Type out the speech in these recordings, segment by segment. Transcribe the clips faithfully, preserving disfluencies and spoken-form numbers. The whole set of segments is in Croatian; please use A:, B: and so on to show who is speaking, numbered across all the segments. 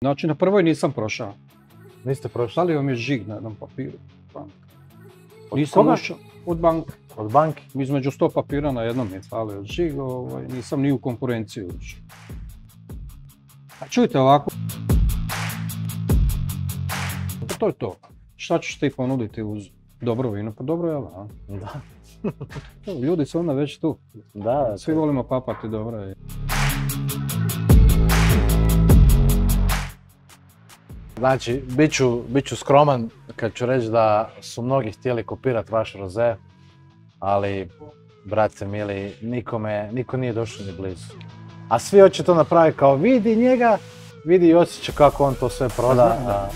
A: Znači, na prvoj nisam prošao.
B: Niste prošli?
A: Stavio mi je žig na jednom papiru.
B: Od
A: Nisam
B: koga?
A: ušao od banke.
B: Od banke?
A: Između sto papira na jednom je stavio žig, ovaj, nisam ni u konkurenciju ušao. A čujte ovako. Pa to je to. Šta ćeš ti ponuditi uz dobro vino? Pa dobro je, a?
B: Da.
A: Ljudi su onda već tu.
B: Da.
A: Svi volimo papati dobro je.
B: Znači, bit ću, bit ću skroman kad ću reći da su mnogi htjeli kopirati vaš roze, ali, brate mili, nikome, niko nije došao ni blizu. A svi hoće to napraviti kao vidi njega, vidi Josića kako on to sve proda. A...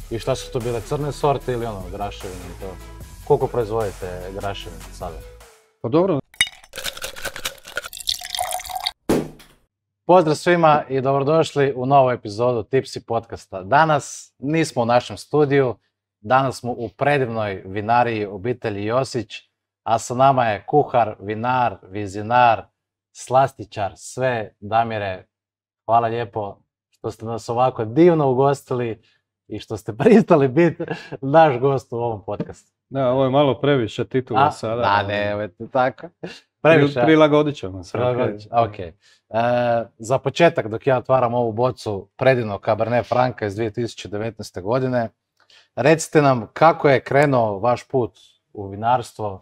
B: I šta su to bile, crne sorte ili ono, graševine i to? Koliko proizvodite graševine sada?
A: Pa dobro.
B: Pozdrav svima i dobrodošli u novu epizodu Tipsy podcasta. Danas nismo u našem studiju, danas smo u predivnoj vinariji obitelji Josić, a sa nama je kuhar, vinar, vizionar, slastičar, sve. Damire, hvala lijepo što ste nas ovako divno ugostili i što ste pristali biti naš gost u ovom podcastu.
A: Da, ovo je malo previše titula
B: A,
A: sada.
B: Da, ne, ovo je tako. Previše.
A: Prilagodit ćemo se.
B: Prilagodit ćemo, ok. E, za početak, dok ja otvaram ovu bocu predivnog Cabernet Franca iz dvije tisuće devetnaeste. godine, recite nam kako je krenuo vaš put u vinarstvo,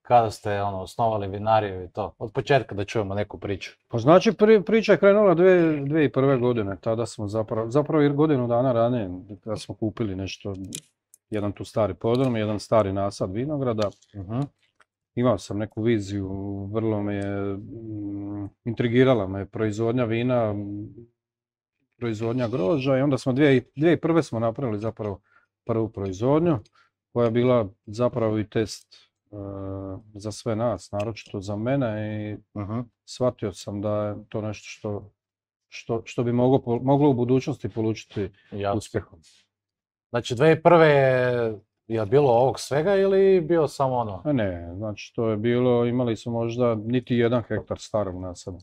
B: kada ste ono, osnovali vinariju i to. Od početka da čujemo neku priču.
A: Pa znači pri, priča je krenula dvije tisuće prve. godine, tada smo zapravo, zapravo godinu dana ranije, kada smo kupili nešto, jedan tu stari podrum, jedan stari nasad vinograda.
B: Uh-huh.
A: Imao sam neku viziju, vrlo me je, m, intrigirala me proizvodnja vina, proizvodnja grožđa i onda smo dvije tisuće prve. smo napravili zapravo prvu proizvodnju koja je bila zapravo i test uh, za sve nas, naročito za mene i
B: Uh-huh.
A: shvatio sam da je to nešto što, što, što bi moglo, moglo u budućnosti polučiti
B: Ja.
A: uspjehom.
B: Znači dvije tisuće prve. je, je bilo ovog svega ili bio samo ono?
A: A ne, znači to je bilo, imali smo možda niti jedan hektar starog nasada.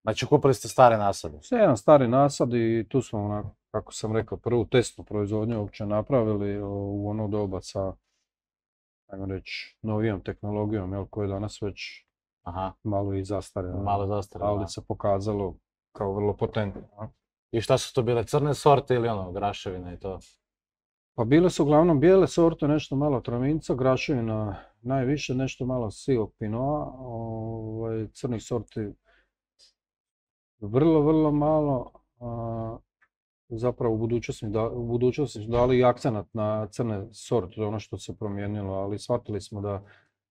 B: Znači kupili ste stare nasade?
A: Sve jedan stari nasad i tu smo, onako, kako sam rekao, prvu testnu proizvodnju uopće napravili u ono doba sa, ajmo reći, novijom tehnologijom, jel, koja je danas već
B: Aha,
A: malo i zastarjela.
B: malo zastarjela.
A: Ali se pokazalo kao vrlo potentno. a.
B: I šta su to bile, crne sorte ili ono, graševine i to?
A: Pa bile su uglavnom bijele sorte, nešto malo travinca, graševina najviše, nešto malo sivog pinoa, ovaj, crnih sorti vrlo, vrlo malo. A, zapravo u budućnosti, da, u budućnosti su dali i akcenat na crne sorte, to je ono što se promijenilo, ali shvatili smo da,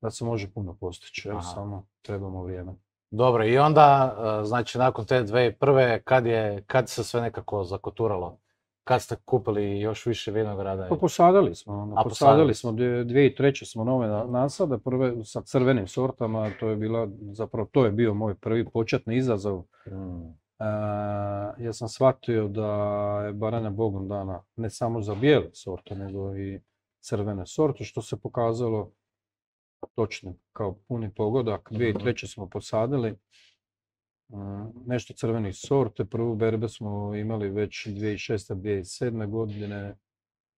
A: da se može puno postići, evo,
B: Aha.
A: samo trebamo vrijeme.
B: Dobro, i onda, e, znači nakon te dvije tisuće prve. kad je, kad se sve nekako zakoturalo? Kad ste kupili još više vinograda?
A: Pa posadili smo, ono,
B: A,
A: posadili
B: posadili
A: smo, dvije tisuće treće. smo nove na- nasade, prve sa crvenim sortama, to je bila, zapravo to je bio moj prvi početni izazov.
B: Mm.
A: E, ja sam shvatio da je baranja Bogom dana ne samo za bijele sorte, nego i crvene sorte, što se pokazalo točno kao puni pogodak. dvije tisuće treće. smo posadili e, nešto crvenih sorte, prvu berbe smo imali već dvije tisuće šeste. dvije tisuće sedme. godine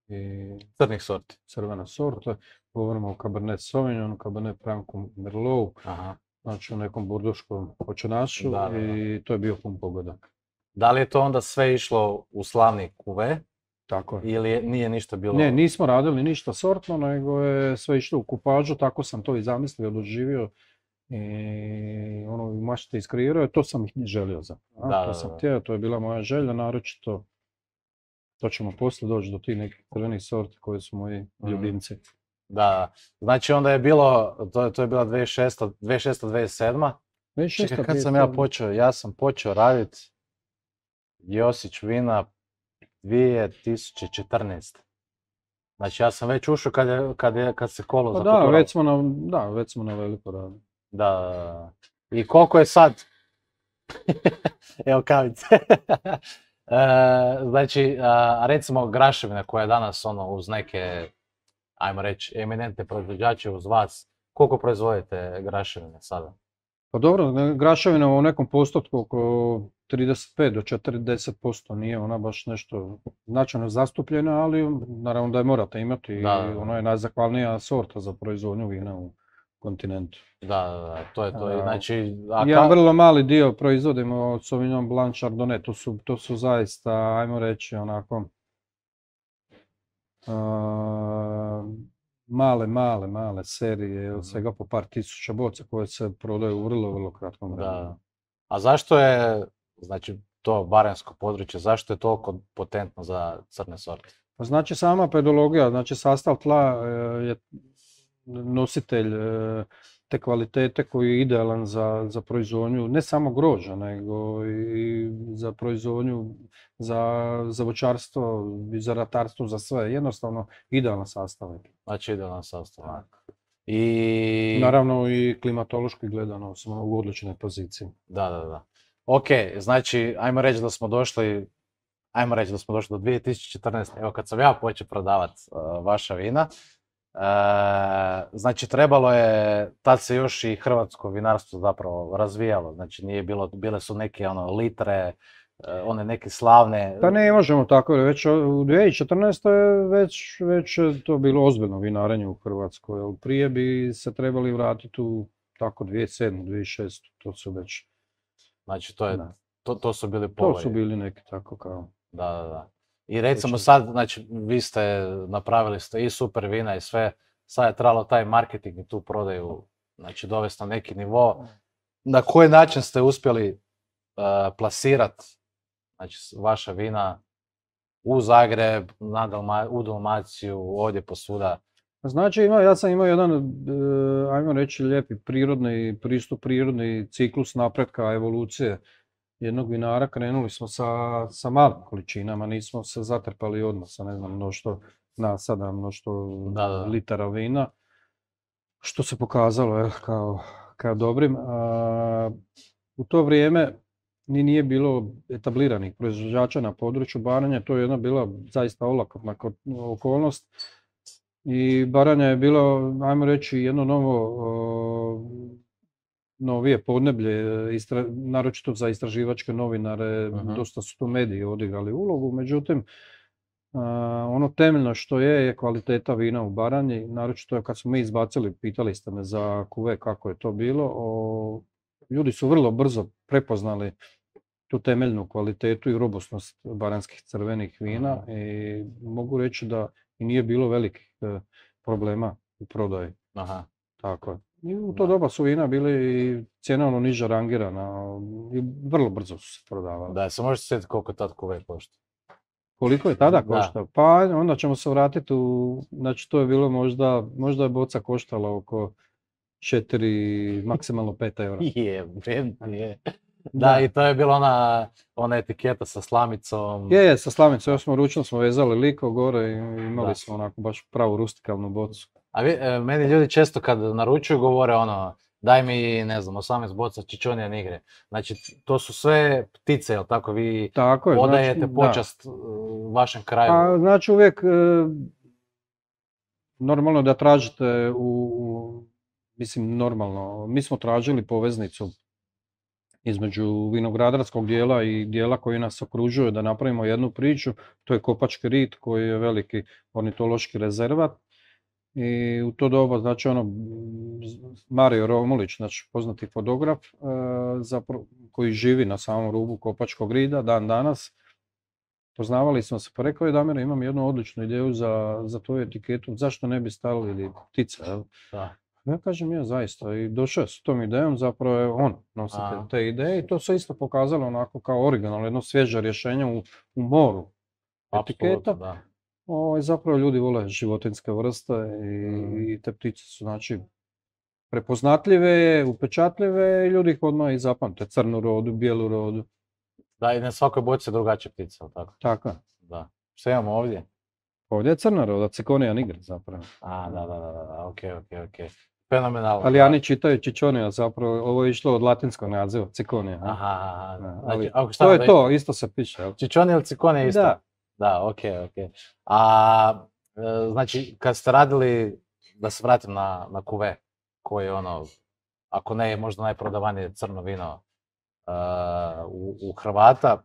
A: i
B: Crnih sorti.
A: crvena sorta. Govorimo o Cabernet Sauvignonu, Cabernet Francu Merlot,
B: Aha.
A: znači u nekom burduškom počinašu
B: Da, da, da.
A: i to je bio pun pogodak.
B: Da li je to onda sve išlo u slavni kuve
A: Tako je.
B: ili je- nije ništa bilo?
A: Ne, nismo radili ništa sortno, nego je sve išlo u kupažu, tako sam to i zamislio, doživio i ono, u mašti iskreirao, to sam ih želio zapravo.
B: Da,
A: To
B: da,
A: sam
B: da.
A: htio, to je bila moja želja, naročito to ćemo poslije doći do tih nekih crvenih sorti koji su moji
B: Mhm.
A: ljubimci.
B: Da, znači onda je bilo, to, je- to je bila dvije tisuće šesta. dvije tisuće šesta. dvije tisuće sedma.
A: Već
B: Čekaj,
A: šesta,
B: kad sam
A: dvije
B: ja
A: tisuće sedme.
B: počeo? Ja sam počeo raditi Josić vina dvije tisuće četrnaeste. Znači ja sam već ušao kad, je, kad, je, kad se kolo
A: Pa da,
B: zakoturalo.
A: već smo na, da, već smo na veliko radili.
B: Da, da, da. I koliko je sad? Evo kavice. E, znači, a, recimo graševina koja je danas ono uz neke, ajmo reći, eminentne proizvođače uz vas, koliko proizvodite graševine sada?
A: Pa dobro, ne, graševina u nekom postotku oko trideset pet do četrdeset posto, nije ona baš nešto značajno zastupljena, ali naravno da je morate imati i
B: Da, da, da.
A: ona je najzahvalnija sorta za proizvodnju vina u kontinentu.
B: Da, da, da, to je to. I
A: A,
B: Znači, a
A: Jedan
B: ka...
A: vrlo mali dio proizvodimo od Sauvignon Blanc Chardonnay, to su, to su zaista, ajmo reći, onako, a, male, male, male serije od svega po par tisuća boca koje se prodaju u vrlo, vrlo kratkom vremenu.
B: Da. A zašto je, znači, to barensko područje, zašto je toliko potentno za crne sorte?
A: Pa znači sama pedologija, znači sastav tla e, je nositelj e, te kvalitete koji je idealan za, za proizvodnju ne samo grožđa, nego i za proizvodnju, za, za voćarstvo i za ratarstvo, za sve. Jednostavno idealan sastav.
B: Znači, idealan sastav. I...
A: Naravno i klimatološki gledano smo u odličnoj poziciji.
B: Da, da, da. Ok, znači, ajmo reći da smo došli, ajmo reći da smo došli do dvije tisuće četrnaeste. Evo, kad sam ja počeo prodavati uh, vaša vina, uh, znači, trebalo je, tad se još i hrvatsko vinarstvo zapravo razvijalo. Znači, nije bilo, bile su neke ono, litre, uh, one neke slavne...
A: Pa ne možemo tako, već u dvije tisuće četrnaestoj je već, već je to bilo ozbiljno vinarenje u Hrvatskoj, ali prije bi se trebali vratiti u tako dvije tisuće sedme, dvije tisuće šeste, to su već...
B: Znači, to, je,
A: Da.
B: to, to su bili povoji.
A: To su bili neki tako kao...
B: Da, da, da. I recimo
A: Točno.
B: sad, znači, vi ste napravili ste i super vina i sve, sad je trebalo taj marketing i tu prodaju, znači, dovesti na neki nivo. Na koji način ste uspjeli uh, plasirati, znači, vaša vina u Zagreb, na Dalma, u Dalmaciju, ovdje posvuda?
A: Znači, ima, ja sam imao jedan, e, ajmo reći, lijepi prirodni pristup, prirodni ciklus napretka, evolucije jednog vinara. Krenuli smo sa, sa malim količinama, nismo se zatrpali odmah sa, ne znam, mnoštvo nasada, mnoštvo
B: Da, da.
A: litara vina, što se pokazalo je, kao, kao dobrim. A, u to vrijeme ni nije bilo etabliranih proizvođača na području Baranje, to je jedna bila zaista olakotna okolnost. I Baranja je bilo, ajmo reći, jedno novo, o, novije podneblje, istra, naročito za istraživačke novinare,
B: Mhm.
A: dosta su tu mediji odigrali ulogu, međutim, a, ono temeljno što je, je kvaliteta vina u Baranji, naročito kad smo mi izbacili, pitali ste me za kuve kako je to bilo, o, ljudi su vrlo brzo prepoznali tu temeljnu kvalitetu i robustnost baranjskih crvenih vina i mogu reći da i nije bilo velikih e, problema u prodaji.
B: Aha.
A: Tako je. I u to
B: Da.
A: doba su vina bili i cjenovno niže rangirana i vrlo brzo su se prodavala.
B: Da, se možete sjetiti koliko tad kuve košta?
A: Koliko je tada
B: Da.
A: koštao? Pa onda ćemo se vratiti u, znači to je bilo možda, možda je boca koštala oko četiri, maksimalno pet eura.
B: Je, vredno je. Da, i to je bila ona, ona etiketa sa slamicom.
A: Je, je, sa slamicom, još smo ručno smo vezali liko gore i imali
B: Da.
A: smo onako baš pravu rustikalnu bocu.
B: A vi, e, meni ljudi često kad naručuju govore ono, daj mi, ne znam, osamnaest boca Ciccione Nigre. Znači, to su sve ptice, jel tako? Vi
A: Tako je,
B: odajete
A: znači,
B: počast e, vašem kraju.
A: A, znači uvijek e, normalno da tražite u, u, mislim normalno, mi smo tražili poveznicu između vinogradarskog dijela i dijela koji nas okružuje da napravimo jednu priču, to je Kopački rit koji je veliki ornitološki rezervat. I u to doba, znači ono, Mario Romulić, znači poznati fotograf, e, zapro, koji živi na samom rubu Kopačkog rida dan danas, poznavali smo se, pa rekao je Damir, imam jednu odličnu ideju za, za tvoju etiketu, zašto ne bi stavili ptice, jel?
B: Da.
A: Ja kažem, ja zaista, i došao je s tom idejom, zapravo je on nositelj
B: A.
A: te ideje i to se isto pokazalo onako kao originalno, jedno svježe rješenje u, u moru etiketa.
B: Apsolutno, da.
A: O, zapravo ljudi vole životinjske vrste i,
B: Mm.
A: i te ptice su znači prepoznatljive, upečatljive i ljudi ih odmah i zapamte, crnu rodu, bijelu rodu.
B: Da, i na svakoj boci je drugačija ptica, jel tako?
A: Tako je.
B: Da. Što imamo ovdje?
A: Ovdje je crna roda, Ciconia nigra zapravo.
B: A, da, da, da, da, ok, ok, ok. Fenomenalno.
A: Ali oni čitaju Cicconia, zapravo ovo je išlo od latinskog naziva, Ciconia.
B: Aha, aha.
A: Da,
B: Znači,
A: ali
B: ako šta
A: to
B: nam
A: je
B: da-
A: to, isto se piše. jel?
B: Ciccione ili Ciccone je isto?
A: Da.
B: Da, ok, ok. A, e, znači, kad ste radili, da se vratim na, na kuve, koji je ono, ako ne možda najprodavanije crno vino uh, u, u Hrvata.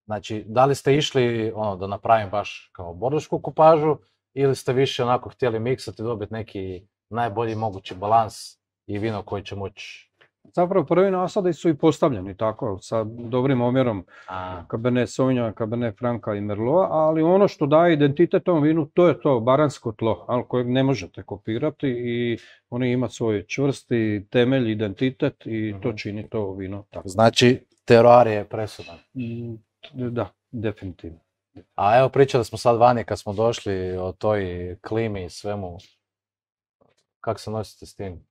B: Znači, da li ste išli ono, da napravim baš kao bordešku kupažu ili ste više onako htjeli miksati, dobiti neki najbolji mogući balans i vino koji će moći?
A: Zapravo prvi nasadi su i postavljeni tako, sa dobrim omjerom
B: A,
A: Cabernet Sauvignon, Cabernet Franca i Merlot, ali ono što daje identitet tom vinu, to je to baransko tlo, ali kojeg ne možete kopirati i oni ima svoj čvrsti temelj, identitet i to čini to vino tako.
B: znači, teroar je presudan.
A: Mm, Da, definitivno.
B: A evo, pričali smo sad vani kad smo došli o toj klimi i svemu. Kako se nosite s tim?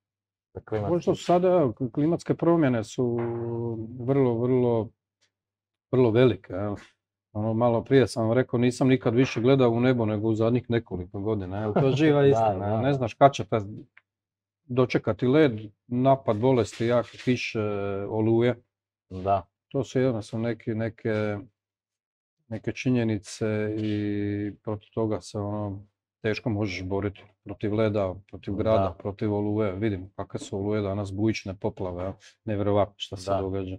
B: Da klimatski-
A: Možda su sada evo, klimatske promjene su vrlo, vrlo, vrlo velike. Evo. Ono, malo prije sam vam rekao, nisam nikad više gledao u nebo nego u zadnjih nekoliko godina. Evo, to je živa
B: Da,
A: istina.
B: da.
A: Ne znaš kad će te dočekati led, napad bolesti, jake kiše, oluje.
B: Da,
A: To su jednostavno neke, neke, neke činjenice i protiv toga se ono, teško možeš boriti. Protiv leda, protiv grada,
B: Da.
A: protiv oluje. Vidimo kakve su oluje danas, bujične poplave, a? Nevjerovatno što se
B: Da.
A: događa.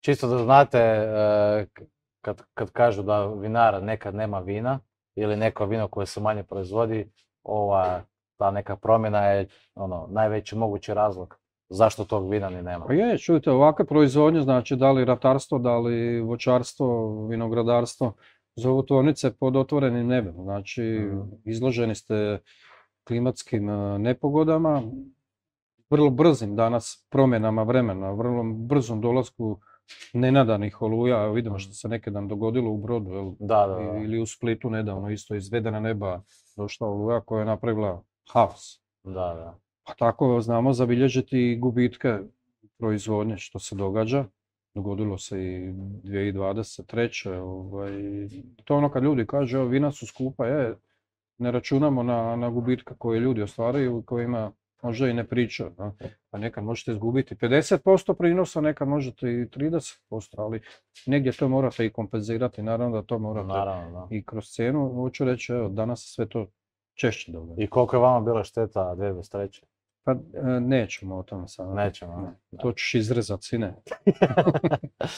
B: čisto da znate, e, k- kad, kad kažu da vinar nekad nema vina ili neko vino koje se manje proizvodi, ova, ta neka promjena je ono, najveći mogući razlog zašto tog vina ni nema.
A: Pa je, čujte, ovakve proizvodnje, znači da li ratarstvo, da li voćarstvo, vinogradarstvo, zovu tvornice pod otvorenim nebom. Znači,
B: Mhm.
A: izloženi ste klimatskim e, nepogodama, vrlo brzim danas promjenama vremena, vrlo brzom dolasku nenadanih oluja. Evo vidimo što se neki dan dogodilo u Brodu, jel?
B: Da, da, da.
A: Ili u Splitu nedavno isto izvedena neba došla oluja koja je napravila haos.
B: Da, da.
A: Pa tako znamo zabilježiti i gubitke proizvodnje što se događa. Dogodilo se i dvije tisuće dvadeset treće. Ovaj, to je ono kad ljudi kažu, evo, vina su skupa, je, ne računamo na, na gubitke koje ljudi ostvaruju, kojima možda i ne pričaju. Da? Pa nekad možete izgubiti pedeset posto prinosa, nekad možete i trideset posto, ali negdje to morate i kompenzirati, naravno da to morate
B: Naravno, da.
A: i kroz cijenu. Hoću reći, evo, danas se sve to češće događa.
B: I koliko je vama bila šteta dvije tisuće dvadeset treće?
A: Pa e, nećemo o tome sada.
B: Nećemo,
A: Ne,
B: da.
A: to ćeš izrezat, sine.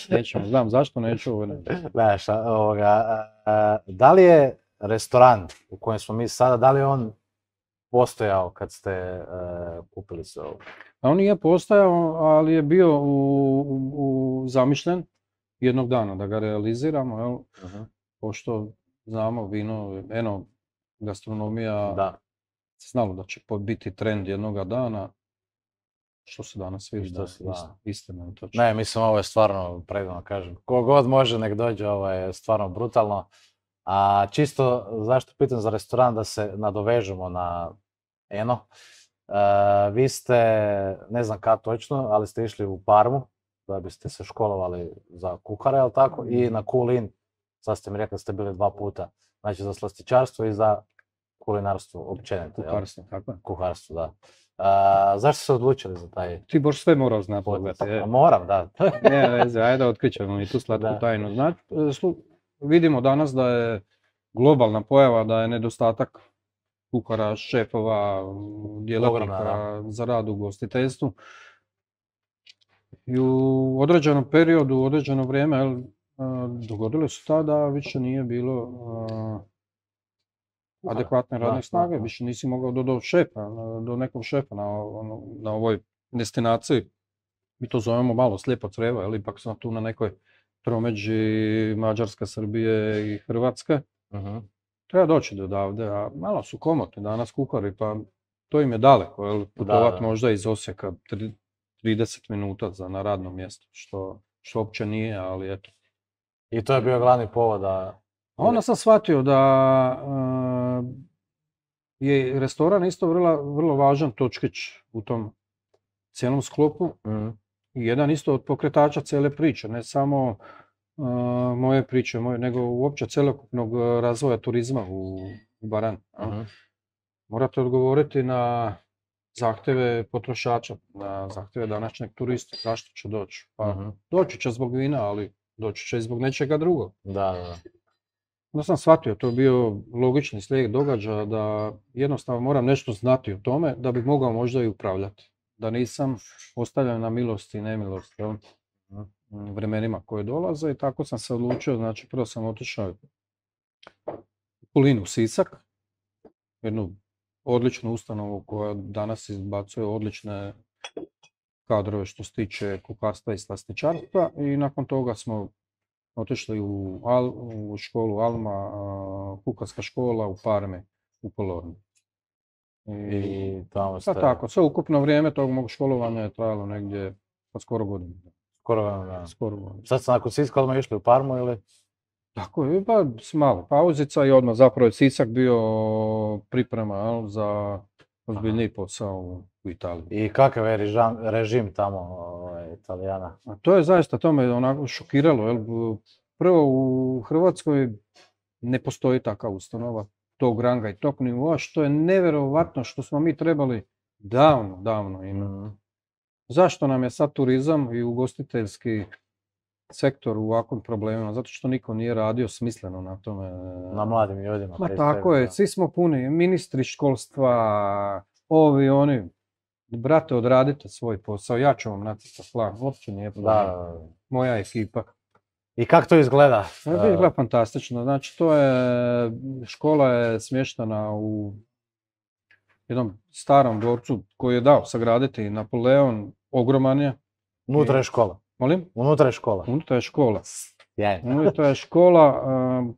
A: Nećemo, znam zašto neću. ovo ne.
B: Ne, šta, ovoga, a, a, da li je restoran u kojem smo mi sada, da li je on postojao kad ste e, kupili sve ovo?
A: A on nije postojao, ali je bio u, u, u zamišljen jednog dana da ga realiziramo, jel?
B: Mhm.
A: Pošto znamo vino, eno, gastronomija,
B: Da,
A: se znalo da će po- biti trend jednoga dana, što se danas vidi,
B: što
A: da,
B: se- da.
A: ist- istina je točno.
B: ne, mislim ovo je stvarno predivno, kažem. Ko god može nek dođe, ovo je stvarno brutalno. A čisto zašto pitam za restoran, da se nadovežemo na Eno. E, vi ste, ne znam kad točno, ali ste išli u Parmu da biste se školovali za kuhara, jel tako? I na Kulin, sad ste mi rekli da ste bili dva puta, znači za slastičarstvo i za kulinarstvo općenito, jel?
A: Kuharstvo, tako je.
B: Kuharstvo, da. A, zašto ste se odlučili za taj
A: Ti boš sve morao znati,
B: pothvat?
A: pogledaj, je.
B: A moram, da.
A: Ne veze, ajde otkrićemo i tu slatku
B: Da.
A: tajnu. Znači, e, slu- vidimo danas da je globalna pojava, da je nedostatak kuhara, šefova, m, djelatnika
B: Ogromna,
A: za rad u ugostiteljstvu. I u određenom periodu, u određeno vrijeme, jel, a, dogodilo se to da više nije bilo a, adekvatne
B: Da,
A: radne
B: da,
A: snage,
B: da.
A: više nisi mogao do, do šefa, na- do nekog šefa na, ono- na ovoj destinaciji. Mi to zovemo malo slijepo crijevo, ali ipak sam tu na nekoj tromeđi Mađarske, Srbije i Hrvatske.
B: Mhm.
A: Treba doći do odavde, a malo su komotni danas kuhari, pa to im je daleko, jel, putovat
B: da.
A: možda iz Osijeka tri- trideset minuta za na radno mjesto, što, što uopće nije, ali eto.
B: I to je bio glavni povod da...
A: A onda sam shvatio da a, je restoran isto vrlo, vrlo važan točkić u tom cijelom sklopu.
B: Mhm.
A: I jedan isto od pokretača cijele priče, ne samo a, moje priče, moje, nego uopće cjelokupnog a, razvoja turizma u, u Baranji. jel.
B: Mhm.
A: Morate odgovoriti na zahtjeve potrošača, na zahtjeve današnjeg turista, zašto će doći. Pa
B: Mhm.
A: doći će zbog vina, ali doći će i zbog nečega drugog.
B: Da, da, da.
A: Onda sam shvatio, to je bio logični slijed događaja, da jednostavno moram nešto znati o tome da bih mogao možda i upravljati. da nisam ostavljen na milost i nemilost, jel, vremenima koje dolaze i tako sam se odlučio, znači prvo sam otišao u Kulinu, Sisak, jednu odličnu ustanovu koja danas izbacuje odlične kadrove što se tiče kuharstva i slastičarstva i nakon toga smo otišli u, Al, u školu Alma, kuharska škola u Parmi, u Polornu. I,
B: I tamo ste...
A: Pa tako, sve ukupno vrijeme tog mog školovanja je trajalo negdje pa skoro godinu.
B: Skoro godinu,
A: skoro godinu.
B: Sad ste nakon Siska odmah išli u Parmu ili?
A: Tako je, pa s malo pauzica i odmah zapravo je Sisak bio priprema jel, za ozbiljniji posao u, u Italiji.
B: I kakav je režim, režim tamo ovaj, Italijana?
A: A to je zaista, to me onako šokiralo. Jel? Prvo u Hrvatskoj ne postoji takva ustanova tog ranga i tog nivoa, što je nevjerovatno što smo mi trebali davno, davno imati. Mm. Zašto nam je sad turizam i ugostiteljski sektor u ovakvim problemima? Zato što niko nije radio smisleno na tome.
B: Na mladim ljudima.
A: Ma tako je, svi smo puni, ministri školstva, ovi, oni. Brate, odradite svoj posao, ja ću vam nacrtati plan, uopće nije problem. Da. Moja ekipa.
B: I kako to izgleda?
A: Izgleda fantastično, znači to je, škola je smještena u jednom starom dvorcu koji je dao sagraditi Napoleon, ogroman je.
B: Unutra je škola?
A: Molim?
B: Unutra je škola?
A: Unutra je škola.
B: Jajno.
A: Unutra je škola,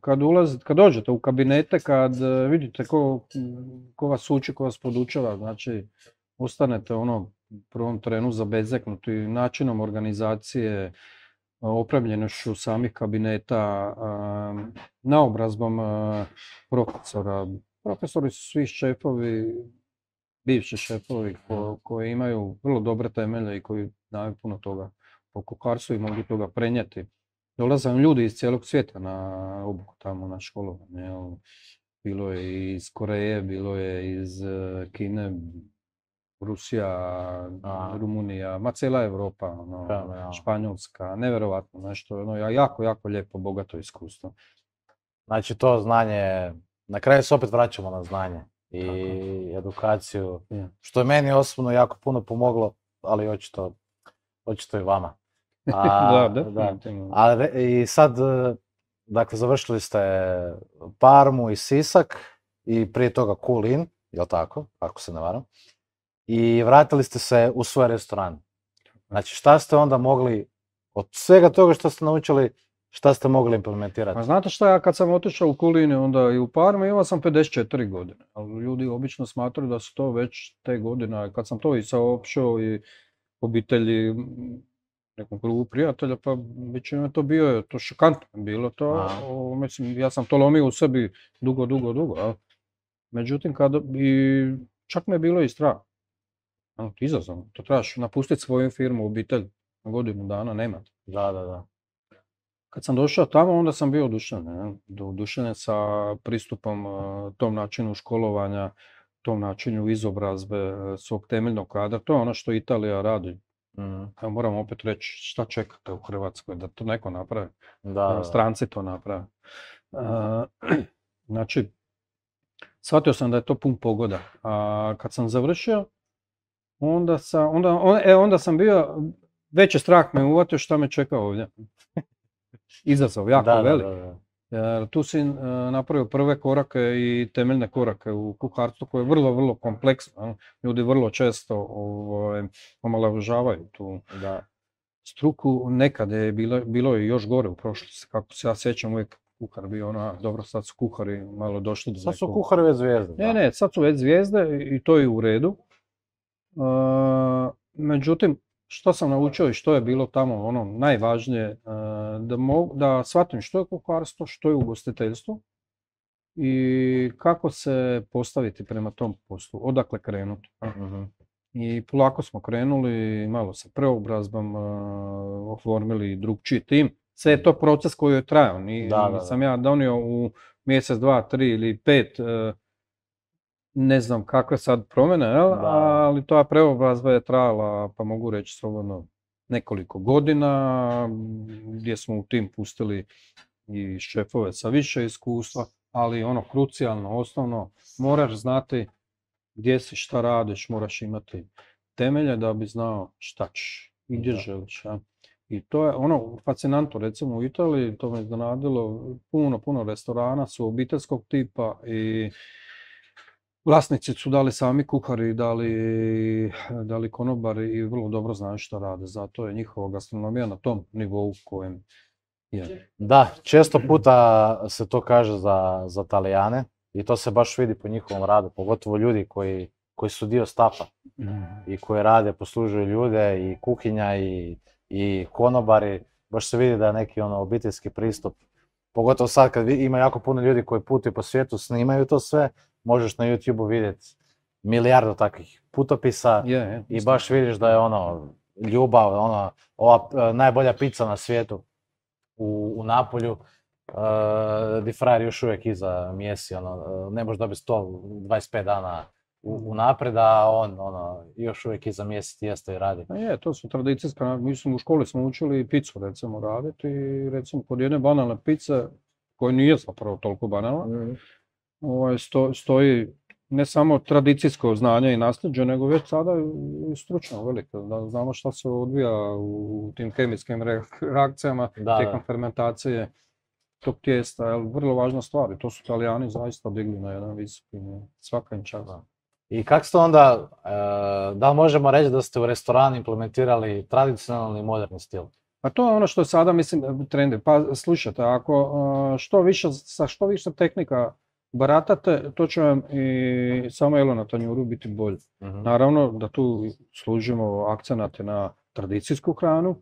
A: kad ulazite, kad dođete u kabinete, kad vidite ko, ko vas uči, ko vas podučava, znači ostanete ono u prvom trenu zabezeknuti načinom organizacije, opremljenošću samih kabineta, naobrazbom profesora. Profesori su svi šefovi, bivši šefovi ko, koji imaju vrlo dobre temelje i koji znaju puno toga o kuharstvu i mogu toga prenijeti. Dolaze ljudi iz cijelog svijeta na obuku tamo na školovanje. Bilo je iz Koreje, bilo je iz Kine, Rusija, a. Rumunija, ma cijela Europa, ono, ja, ja. Španjolska, nevjerovatno nešto, ono, jako, jako lijepo, bogato iskustvo.
B: Znači to znanje, na kraju se opet vraćamo na znanje i tako. Edukaciju, ja. Što je meni osobno jako puno pomoglo, ali očito, očito i vama. A,
A: da, da.
B: da. A, i sad, dakle, završili ste Parmu i Sisak i prije toga Kulin, jel tako, ako se ne varam? I vratili ste se u svoj restoran. Znači, šta ste onda mogli, od svega toga što ste naučili, šta ste mogli implementirati?
A: Pa znate šta, ja kad sam otišao u Kulini, onda i u Parmi, imao sam pedeset četiri godine. Ali ljudi obično smatraju da su to već te godine. Kad sam to i saopćio i obitelji, nekom krugu prijatelja, pa većina to bio je, to šokantno bilo to. O, mislim, ja sam to lomio u sebi dugo, dugo, dugo. A. Međutim, kada, i čak me je bilo i strah. Ano, izazovno, to trebaš napustiti svoju firmu, obitelj, na godinu dana, nema.
B: Da, da, da.
A: Kad sam došao tamo, onda sam bio oduševljen, oduševljen sa pristupom tom načinu školovanja, tom načinu izobrazbe svog temeljnog kadra. To je ono što Italija radi. Mm. Ja moram opet reći šta čekate u Hrvatskoj, da to neko napravi. Da, stranci to naprave. Uh, znači, shvatio sam da je to pun pogoda. A kad sam završio, onda sam, onda, on, e, onda sam bio, veći strah me uvatio šta me čeka ovdje. Izazov, jako da, velik. Da, da, da. Jer tu si uh, napravio prve korake i temeljne korake u kuharstvu koje je vrlo, vrlo kompleksno. Ljudi vrlo često ovaj, omalovažavaju tu da. struku. Nekad je bilo, bilo i još gore u prošlosti. Kako se ja sjećam, uvijek kuhar bio ono, dobro sad su kuhari malo došli do
B: Sad nekog... su kuhari već zvijezde.
A: Ne, ne, sad su već zvijezde i to je u redu. Uh, međutim, što sam naučio i što je bilo tamo ono najvažnije, da, mogu, da shvatim što je kuharstvo, što je ugostiteljstvo i kako se postaviti prema tom poslu, odakle krenuti. Uh-huh. I polako smo krenuli, malo sa preobrazbom, uh, oformili drugčiji tim. Sve je to proces koji je trajao, Ni, da, da, sam da. ja donio u mjesec, dva, tri ili pet, uh, ne znam kakve sad promjene, jel? Ali ta preobrazba je trajala, pa mogu reći slobodno, nekoliko godina, gdje smo u tim pustili i šefove sa više iskustva, ali ono krucijalno, osnovno, moraš znati gdje si, šta radiš, moraš imati temelje da bi znao šta ćeš i gdje
B: Da.
A: želiš. Ja. I to je ono fascinantno, recimo u Italiji, to me iznenadilo, puno, puno restorana su obiteljskog tipa i vlasnici su dali sami kuhari, dali, dali konobari i vrlo dobro znaju što rade. Zato je njihova gastronomija na tom nivou kojem je.
B: Da, često puta se to kaže za, za Talijane i to se baš vidi po njihovom radu, pogotovo ljudi koji, koji su dio stafa i koji rade, poslužuju ljude i kuhinja i, i konobari. Baš se vidi da je neki ono obiteljski pristup. Pogotovo sad kad vi- ima jako puno ljudi koji putuju po svijetu, snimaju to sve, možeš na YouTubeu vidjeti milijardu takvih putopisa
A: Je, je,
B: i baš vidiš da je ono ljubav, ono, ova e, najbolja pizza na svijetu u, u Napolju, e, di frajer još uvijek iza mjesi, ono, e, ne možeš dobiti sto dvadeset pet dana u, unaprijed, a on ono, još uvijek iza mjesi tijesto i radi.
A: A je, to su tradicijska, mislim u školi smo učili picu recimo raditi i recimo kod jedne banalne pice, koja nije zapravo toliko banalna, ovaj, sto, stoji ne samo tradicijsko znanje i nasljeđe, nego već sada i stručno veliko, da znamo šta se odvija u tim kemijskim re- reakcijama
B: Da,
A: tijekom
B: da.
A: fermentacije tog tijesta, jel, vrlo važna stvar i to su Talijani zaista digli na jedan visoki nivo. Svaka im čast.
B: Da. I kako ste onda, e, da li možemo reći da ste u restoranu implementirali tradicionalni i moderni stil?
A: A to je ono što je sada, mislim, trendi. Pa slušajte, ako uh, što više, sa što više tehnika baratate, to će vam i samo jelo na tanjuru biti bolje.
B: Mhm.
A: Naravno da tu služimo akcenate na tradicijsku hranu,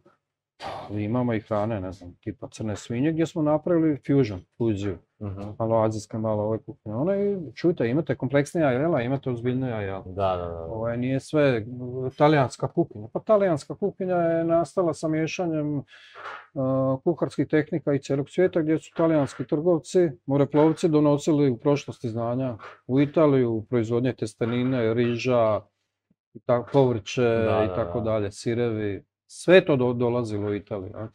A: ali imamo i hrane, ne znam, tipa crne svinje gdje smo napravili fusion, fuziju.
B: Mhm.
A: Malo azijska, malo ove kuhinje. Ono i čujte, imate kompleksnija jela, imate ozbiljnija jela.
B: Da, da, da.
A: Ovo nije sve talijanska kuhinja. Pa talijanska kuhinja je nastala sa miješanjem uh, kuharskih tehnika i cijelog svijeta gdje su talijanski trgovci, moreplovci donosili u prošlosti znanja u Italiju, u proizvodnje testenine, riža, i ta- povrće
B: Da,
A: i
B: da,
A: tako
B: da.
A: dalje, sirevi. Sve to do- dolazilo u Italiju. a.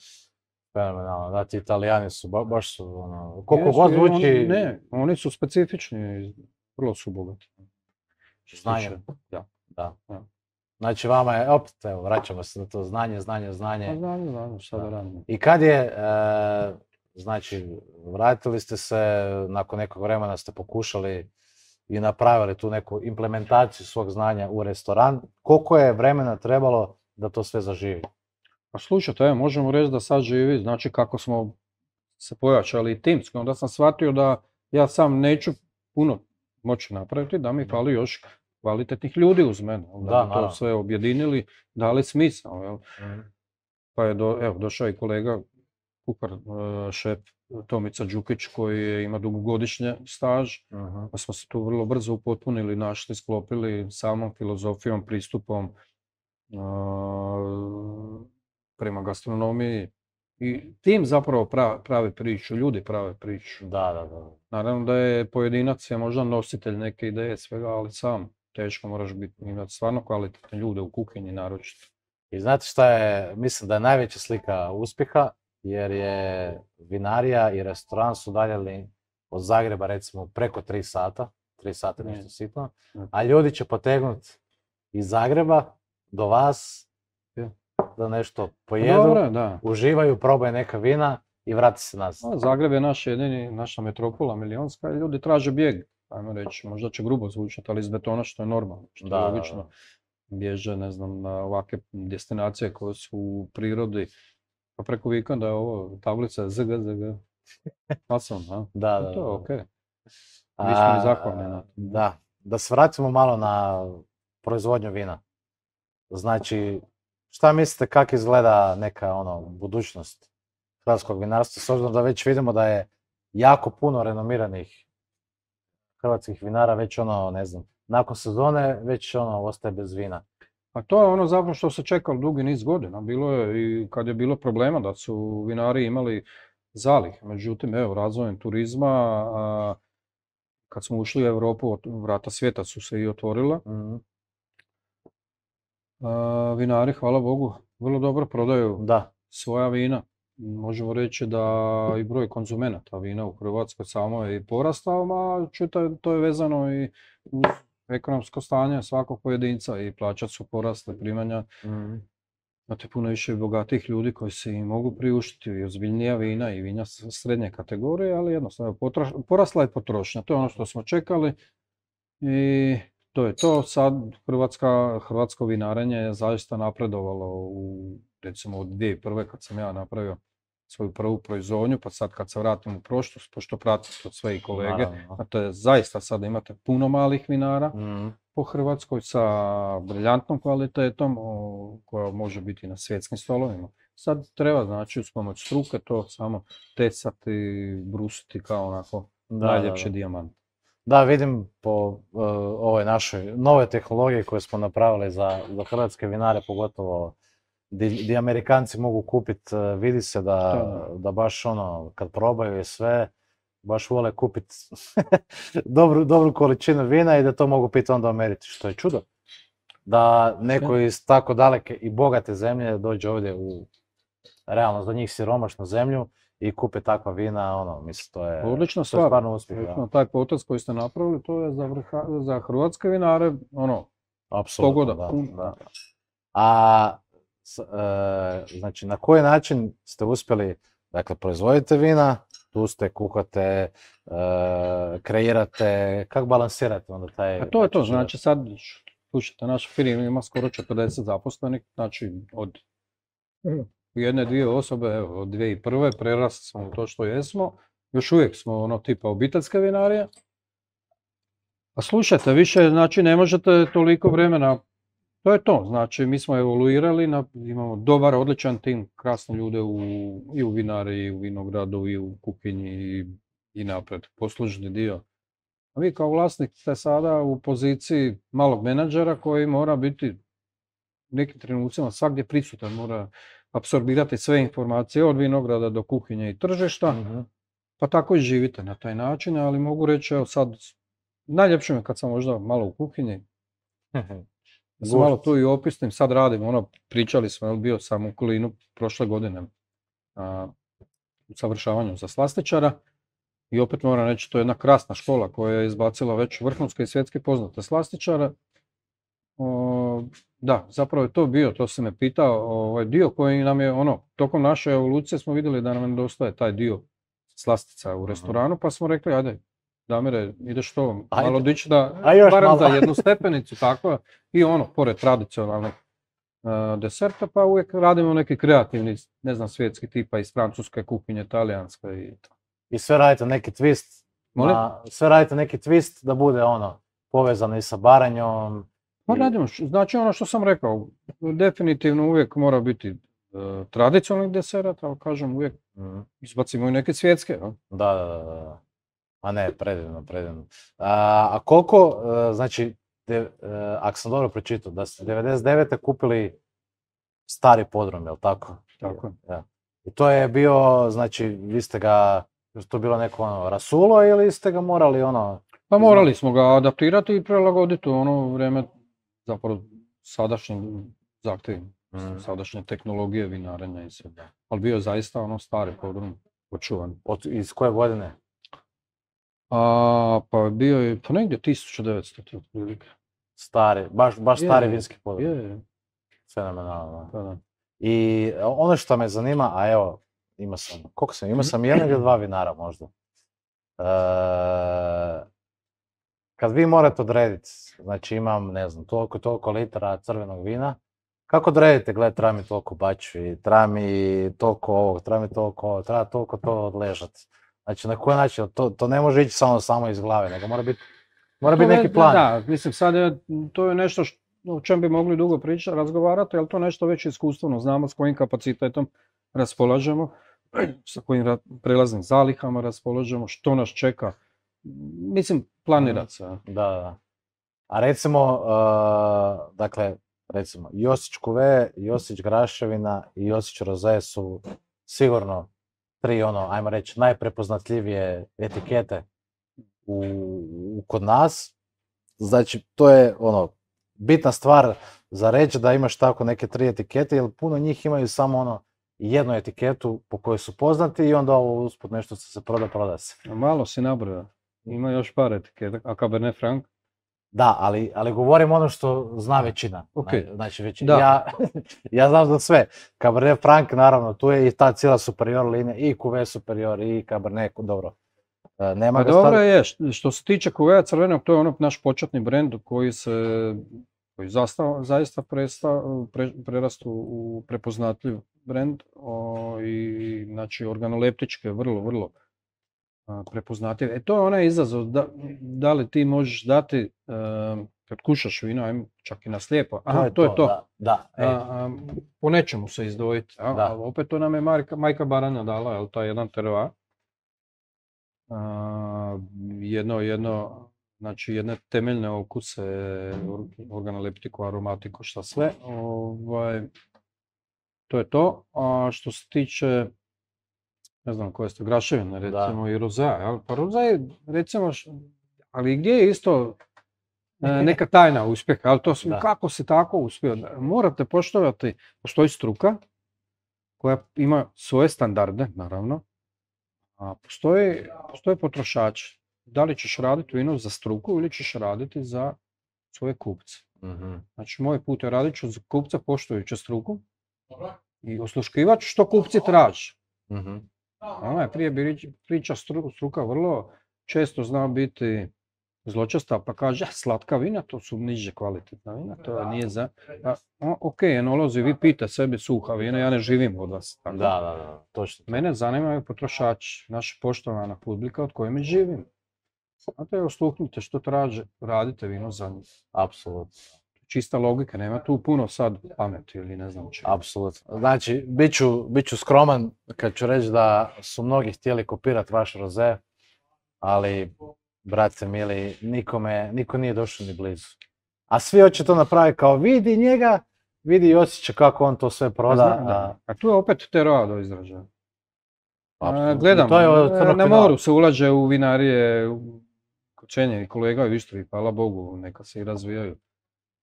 B: Fenomenalno, da, ti Italijani su, ba- baš su, ono, koliko
A: Jesu,
B: god
A: je, oni-
B: zvuči
A: Ne, oni su specifični, vrlo su bogati. Što se
B: znanje.
A: tiče- Ja.
B: Da.
A: Ja.
B: Znači vama je, opet, evo, vraćamo se na to znanje, znanje,
A: Pa
B: znanje.
A: znam, znam, šta da
B: Da.
A: radim.
B: I kad je, e, znači, vratili ste se, nakon nekog vremena ste pokušali i napravili tu neku implementaciju svog znanja u restoran. Koliko je vremena trebalo da to sve zaživi?
A: Pa slušajte, evo, možemo reći da sad živi, znači kako smo se pojačali timski, onda sam shvatio da ja sam neću puno moći napraviti, da mi fali još kvalitetnih ljudi uz mene, onda
B: Da,
A: bi to
B: naravno.
A: sve objedinili, dali smisao, jel? Pa je do, evo, došao i kolega, kuhar, e, šef Tomica Đukić koji je- ima dugogodišnje staž,
B: Mhm.
A: pa smo se tu vrlo brzo upotpunili, našli, sklopili samom filozofijom, pristupom a, prema gastronomiji. I tim zapravo pra- pravi priču, ljudi prave priču.
B: Da, da, da.
A: Naravno da je pojedinac je možda nositelj neke ideje svega, ali sam teško moraš biti, imati stvarno kvalitetne ljude u kuhinji naročito.
B: I znate šta je, mislim da je najveća slika uspjeha, jer je vinarija i restoran su udaljeni od Zagreba recimo preko tri sata, tri sata
A: Ne.
B: nešto sitno,
A: Ne.
B: a ljudi će potegnuti iz Zagreba do vas
A: Je.
B: da nešto pojedu,
A: Dobro, da.
B: uživaju, probaju neka vina i vrati se nazad.
A: A, Zagreb je naš jedini, naša metropola milionska i ljudi traže bijeg, ajmo reći, možda će grubo zvučati, ali iz betona što je normalno, što
B: Da,
A: je
B: da,
A: logično.
B: da.
A: Bježe, ne znam, na ovakve destinacije koje su u prirodi, pa preko vikenda je ovo tablica Z G Z G. Masovno, a?
B: Da,
A: I
B: da,
A: to je
B: da.
A: okej. Mi smo i
B: A,
A: zahvalni na to.
B: Da, da se vratimo malo na proizvodnju vina. Znači, šta mislite kako izgleda neka ono budućnost hrvatskog vinarstva, s obzirom da već vidimo da je jako puno renomiranih hrvatskih vinara već ono, ne znam, nakon sezone već ono ostaje bez vina.
A: A to je ono zapravo što se čekalo dugi niz godina. Bilo je i kad je bilo problema da su vinari imali zalih. Međutim, evo, razvojem turizma, a, kad smo ušli u Europu, ot- vrata svijeta su se i otvorila.
B: Mhm.
A: A, vinari, hvala Bogu, vrlo dobro prodaju
B: Da,
A: svoja vina. Možemo reći da i broj konzumenata vina u Hrvatskoj samo je i porastao, a čujte, to je vezano i uz ekonomsko stanje svakog pojedinca i plaća su porasle, primanja.
B: Mhm.
A: Imate puno više bogatih ljudi koji se i mogu priuštiti i ozbiljnija vina i vinja srednje kategorije, ali jednostavno potroš- porasla je potrošnja. To je ono što smo čekali i to je to. Sad Hrvatska, hrvatsko vinarenje je zaista napredovalo u, recimo od dvije tisuće prve kad sam ja napravio svoju prvu proizvodnju, pa sad kad se vratim u prošlost, pošto pratim to sve i kolege,
B: Naravno.
A: a to je zaista sad imate puno malih vinara
B: Mhm.
A: po Hrvatskoj sa briljantnom kvalitetom o, koja može biti na svjetskim stolovima. Sad treba znači uz pomoć struke to samo tesati, brusiti kao onako
B: Da,
A: najljepši
B: da, da.
A: dijamant.
B: Da, vidim po uh, ovoj našoj nove tehnologije koje smo napravili za, za hrvatske vinare, pogotovo di, di Amerikanci mogu kupiti, uh, vidi se da,
A: Da,
B: da baš ono, kad probaju i sve, baš vole kupiti dobru, dobru količinu vina i da to mogu piti onda u Americi, što je čudo. Da neko iz tako daleke i bogate zemlje dođe ovdje u realno za njih siromašnu zemlju i kupe takva vina, ono, mislim, to je,
A: Odlična
B: to je
A: stvar.
B: stvarno uspjeh.
A: Recimo, taj potez koji ste napravili, to je za, vrha, za hrvatske vinare, ono,
B: Apsolutno,
A: pogoda.
B: da,
A: pun.
B: da. A, s- e, znači, na koji način ste uspjeli, dakle, proizvodite vina, tu ste, kuhate, e, kreirate, kako balansirate onda taj...
A: A to je to,
B: način
A: znači sad, slušajte, naša firma ima skoro četrdeset zaposlenih, znači od jedne, dvije osobe, evo, od dvije tisuće prve prerasli smo u to što jesmo, još uvijek smo ono tipa obiteljske vinarije. A slušajte, više, znači ne možete toliko vremena, to je to, znači mi smo evoluirali, na, imamo dobar, odličan tim, krasne ljude u, i u vinari, i u vinogradu, i u kuhinji, i, i napred, poslužni dio. A vi kao vlasnik ste sada u poziciji malog menadžera koji mora biti u nekim trenucima svagdje prisutan, mora apsorbirati sve informacije od vinograda do kuhinje i tržišta,
B: Mhm.
A: pa tako i živite na taj način, ali mogu reći, evo sad, najljepše mi je kad sam možda malo u kuhinji, da se malo tu i opisnim, sad radim, ono, pričali smo, jel, bio sam u Kulinu prošle godine a, u savršavanju za slastičara i opet moram reći, to je jedna krasna škola koja je izbacila već vrhunske i svjetski poznate slastičare. O, da, zapravo je to bio, to se me pitao, ovaj dio koji nam je, ono, tokom naše evolucije smo vidjeli da nam nedostaje taj dio slastica u restoranu, pa smo rekli, ajde, Damire, ideš to malo
B: Ajde.
A: dići da,
B: A još
A: barem
B: malo.
A: za jednu stepenicu, tako, i ono, pored tradicionalnih uh, deserta, pa uvijek radimo neki kreativni, ne znam, svjetski tipa iz francuske kuhinje, talijanske i to.
B: I sve radite neki twist,
A: Molim?
B: na, sve radite neki twist da bude ono, povezano i sa Baranjom.
A: Pa
B: i-
A: radimo, š- znači ono što sam rekao, definitivno uvijek mora biti uh, tradicionalnih deserata, ali kažem uvijek
B: Mhm.
A: izbacimo i neke svjetske. No?
B: Da, da, da, da. A ne, predivno, predivno. A, a koliko, e, znači, de, e, ako sam dobro pročitao, da ste devedeset devete kupili stari podrum, jel tako?
A: Tako je.
B: Ja. I to je bio, znači, vi ste ga, je to bilo neko ono rasulo ili ste ga morali ono...
A: Pa morali smo ga adaptirati i prilagoditi u ono vrijeme, zapravo sadašnjim zahtjevima,
B: Mhm.
A: sadašnje tehnologije vinarenja i sve. Ali bio je zaista ono stari podrum, očuvan.
B: Od, iz koje godine?
A: A, pa bio je, pa negdje tisuću devetsto otprilike.
B: Stari, baš, baš
A: Je,
B: stari
A: je,
B: vinski podrum.
A: Je, je,
B: Fenomenalno.
A: pa da.
B: I ono što me zanima, a evo, imao sam, koliko sam, imao sam jedan ili dva vinara možda. E, kad vi morate odrediti, znači imam, ne znam, toliko i toliko litara crvenog vina, kako odredite, gledaj, treba mi toliko bačvi, treba mi toliko ovog, treba mi toliko ovo, treba toliko to odležati. Znači, na koji način, to, to ne može ići samo, samo iz glave, nego mora biti, mora
A: To
B: biti
A: ne-
B: neki plan.
A: Da, mislim sad je, to je nešto što, o čem bi mogli dugo pričati, razgovarati, ali to nešto već iskustveno znamo s kojim kapacitetom raspolažemo, sa kojim ra- prelaznim zalihama raspolažemo, što nas čeka. Mislim, planirati se.
B: Da, da, da. A recimo, uh, dakle, recimo, Josić Kuve, Josić Graševina i Josić Roze su sigurno tri, ono, ajmo reći, najprepoznatljivije etikete u, u- kod nas. Znači, to je, ono, bitna stvar za reći da imaš tako neke tri etikete, jer puno njih imaju samo, ono, jednu etiketu po kojoj su poznati i onda ovo usput nešto što se proda, proda se.
A: Malo si nabrojao. Ima još par etiketa, a Cabernet Franc,
B: Da, ali, ali govorim ono što zna većina.
A: Okay.
B: Znači, većina. Ja, ja znam za sve. Cabernet Franc, naravno, tu je i ta cijela superior linija, i Cuvée superior, i Cabernet, dobro. Nema
A: pa
B: ga
A: dobro
B: stav...
A: je, što se tiče Cuvée crvenog, to je ono naš početni brend koji se koji zaista, zaista presta, pre, prerastu u prepoznatljiv brend o, i znači organoleptičke vrlo, vrlo a, prepoznatljive. E to je onaj izazov, da, da li ti možeš dati, a, kad kušaš vino, ajmo čak i na slijepo, aha, to je to,
B: to,
A: je to.
B: Da, da,
A: a, a, po nečemu se izdvojiti, a,
B: da.
A: a opet to nam je Majka, Majka Baranja dala, jel, taj jedan terroir. Uh, jedno, jedno, znači jedne temeljne okuse, organoleptiku, aromatiku, šta sve. Ovaj, to je to. A što se tiče, ne znam koje ste, graševine, recimo da. I rozea, jel? Pa rozea, recimo, ali gdje je isto neka tajna uspjeha, ali to su, kako se tako uspio? Morate poštovati, postoji struka koja ima svoje standarde, naravno. A postoje, postoje potrošači. Da li ćeš raditi vino za struku ili ćeš raditi za svoje kupce.
B: Mm-hmm.
A: Znači, moj put je radit ću za kupca poštujući struku i osluškivat što kupci traže.
B: Mm-hmm.
A: Ona je prije priča struka vrlo često zna biti zločesta, pa kaže slatka vina, to su niže kvalitetna vina, to nije za... A, ok, enolozi, vi pite sebi suha vina, ja ne živim od vas. Tako?
B: Da, da, da, točno.
A: Mene zanimaju potrošači, naša poštovana publika od kojima živim. Znate, osluhnite što traže, radite vino za njih.
B: Apsolutno.
A: Čista logika, nema tu puno sad pameti ili ne znam čega.
B: Apsolutno. Znači, bit ću, bit ću skroman kad ću reći da su mnogi htjeli kopirati vaš roze, ali, brate mili, nikome, niko nije došao ni blizu. A svi hoće to napraviti kao vidi njega, vidi i osjeća kako on to sve proda.
A: A, a... a tu je opet terroir do izražaja.
B: Gledam,
A: to je na moru se ulaže u vinarije, cenjeni kolega u Istri, hvala Bogu, neka se i razvijaju.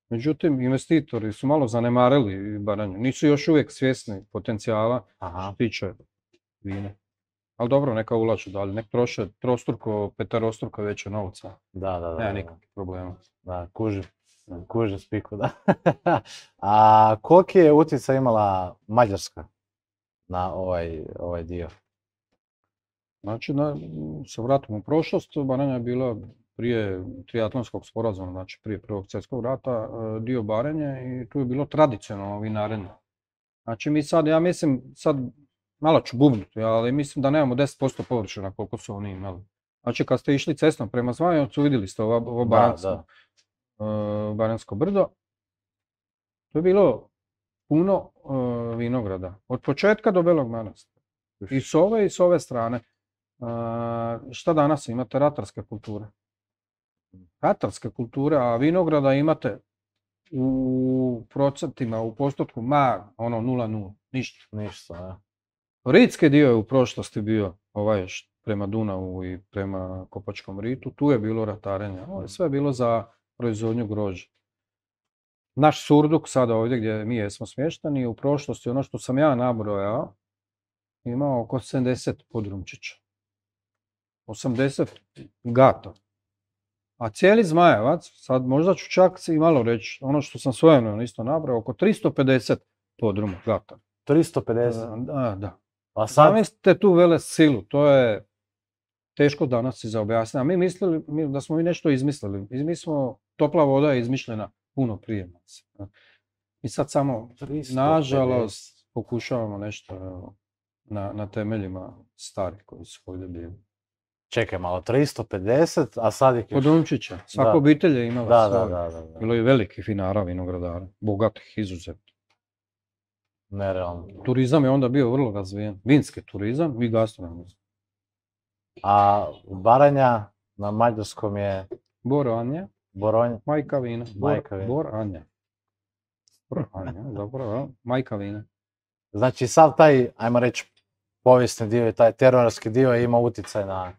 A: Međutim, investitori su malo zanemarili Baranju, nisu još uvijek svjesni potencijala što tiče vine. Ali dobro, neka ulažu dalje, nek troše trostruko, petarostruko veće novca.
B: Da, da, da.
A: Nema nikakvih problema.
B: Da, kužim, kužim spiku, da. A koliki je utjecaj imala Mađarska na ovaj, ovaj dio?
A: Znači, da se vratimo u prošlost, Baranja je bila prije triatlonskog sporazuma, znači prije Prvog svjetskog rata, dio Baranje i tu je bilo tradicionalno vinarenje. Znači mi sad, ja mislim, sad malo ću bubnuti, ali mislim da nemamo deset posto površina koliko su oni imali. Znači kad ste išli cestom prema Zvajanovcu, vidjeli ste ovo, ovo baransko, uh, baransko brdo. To je bilo puno uh, vinograda, od početka do Belog Manastira. I s ove i s ove strane. Uh, šta danas imate? Ratarske kulture. Ratarske kulture, a vinograda imate u procentima, u postotku, ma, ono, nula nula, ništa.
B: Ništa, ja.
A: Ritski dio je u prošlosti bio ovaj prema Dunavu i prema Kopačkom ritu, tu je bilo ratarenje, ovo je sve bilo za proizvodnju grožđa. Naš Surduk, sada ovdje gdje mi jesmo smješteni, u prošlosti, ono što sam ja nabrojao, imao oko sedamdeset podrumčića. osamdeset gata. A cijeli Zmajevac, sad možda ću čak i malo reći, ono što sam svojevremeno isto nabrojao, oko tristo pedeset podruma gata.
B: tristo pedeset?
A: Da, da.
B: A sad...
A: Zamislite tu vele silu, to je teško danas si za objasniti. A mi mislili mi, da smo mi nešto izmislili. Mi smo, topla voda je izmišljena puno prije nas. I sad samo, nažalost, pokušavamo nešto na, na temeljima starih koji su ovdje bili.
B: Čekaj malo, tristo pedeset, a sad ih...
A: Podrumčića. Svaka
B: da.
A: obitelj je imala
B: da,
A: svoje.
B: Da, da, da, da.
A: Bilo je velikih vinara, vinogradara, bogatih, izuzetno.
B: Nerealno.
A: Turizam je onda bio vrlo razvijen. Vinski turizam i gastronomski.
B: A Baranja na mađarskom je...
A: Boranja.
B: Boronja.
A: Majka vina.
B: Majka vina.
A: Boranja. Boranja, zapravo, majka vina.
B: Znači sav taj, ajmo reći, povijesni dio i taj terorarski dio ima utjecaj na,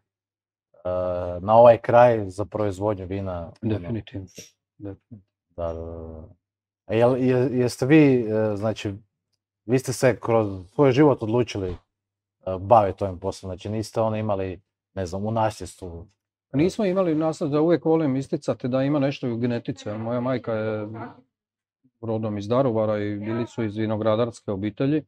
B: na ovaj kraj za proizvodnju vina.
A: Definitivno.
B: Da, da, da. A jel, jeste vi, znači, vi ste se kroz svoj život odlučili baviti ovim poslom, znači niste ono imali, ne znam, u nasljedstvu
A: Nismo imali nasled, da uvijek volim isticati da ima nešto u genetici. Moja majka je rodom iz Daruvara i bili su iz vinogradarske obitelji.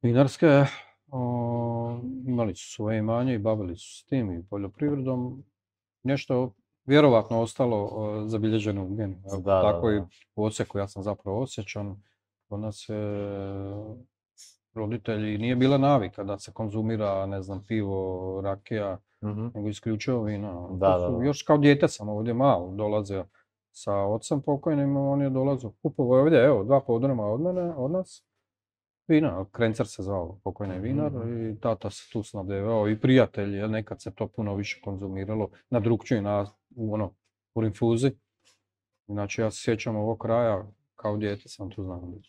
A: Vinarske, o, imali su svoje imanje i bavili su s tim i poljoprivredom. Nešto vjerovatno ostalo o, zabilježeno u genu.
B: Da, da,
A: Tako
B: da.
A: i u Osijeku, ja sam zapravo Osječan. Kod nas je roditelji, nije bila navika da se konzumira, ne znam, pivo, rakija,
B: Mhm.
A: nego isključivo vino.
B: Da,
A: To
B: da,
A: su,
B: da.
A: još kao dijete sam ovdje malo dolazio sa ocem pokojnim, on je dolazio, kupovao je ovdje, evo, dva podruma od mene, od nas, vina, Krencer se zvao, pokojni vinar,
B: Mhm.
A: i tata se tu snabdevao, i prijatelji, jer nekad se to puno više konzumiralo, na drugčiji, na, u ono, u rinfuzi. Znači, ja se sjećam ovog kraja, kao dijete sam tu znam.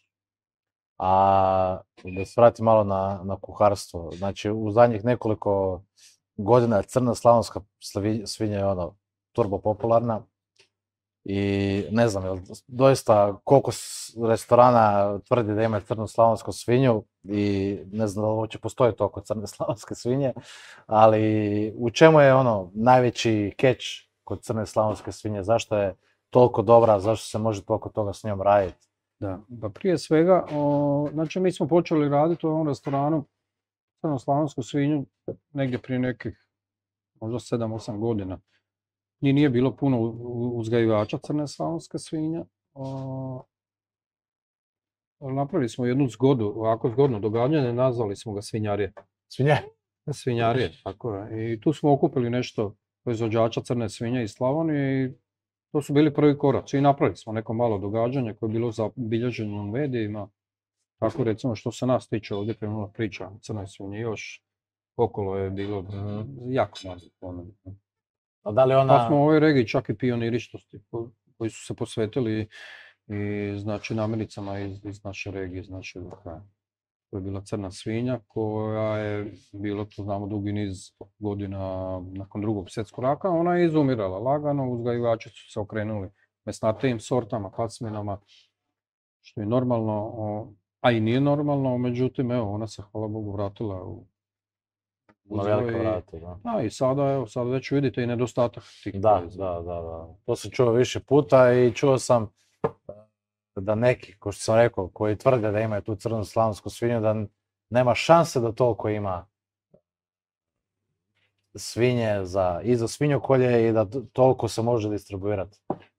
B: A da se vratim malo na, na kuharstvo. Znači, u zadnjih nekoliko godina je crna slavonska slavi- svinja je ono turbo popularna. I ne znam, jel doista koliko s- restorana tvrdi da ima crnu slavonsku svinju i ne znam da li uopće postoji toliko crne slavonske svinje, ali u čemu je ono najveći catch kod crne slavonske svinje? Zašto je toliko dobra, zašto se može toliko toga s njom raditi?
A: Da, pa prije svega, o, znači mi smo počeli raditi u ovom restoranu crnoslavonsku svinju negdje prije nekih možda sedam osam godina. Ni nije bilo puno u- u- uzgajivača crne slavonske svinje. O, napravili smo jednu zgodu, ovako zgodno događanje, nazvali smo ga svinjarije.
B: Svinje?
A: Svinjarije, tako je. I tu smo okupili nešto proizvođača crne svinje iz Slavonije i to su bili prvi koraci. I napravili smo neko malo događanje koje je bilo zabilježeno u medijima. Tako recimo što se nas tiče ovdje krenula priča o crnoj svinji, još okolo je bilo
B: Mhm.
A: jako malo ponuda.
B: A da li
A: Pa
B: ona...
A: smo u ovoj regiji čak i pioniri što ste- ko- koji su se posvetili i znači namirnicama iz, iz naše regije, iz našeg kraja. To je bila crna svinja koja je bila, to znamo, dugi niz godina nakon drugog svjetskog rata, ona je izumirala lagano, uzgajivači su se okrenuli mesnatijim sortama, pasminama, što je normalno, o, a i nije normalno, međutim, evo, ona se, hvala Bogu, vratila u
B: Na
A: uzgoj
B: velike
A: i-
B: vrate, da.
A: Da, i sada, evo, sad već vidite i nedostatak tih
B: Da,
A: proizvoda.
B: da, da, da. To sam čuo više puta i čuo sam da neki, kao što sam rekao, koji tvrde da imaju tu crnu slavonsku svinju, da n- nema šanse da toliko ima svinje za, i za svinjokolje i da t- toliko se može distribuirati.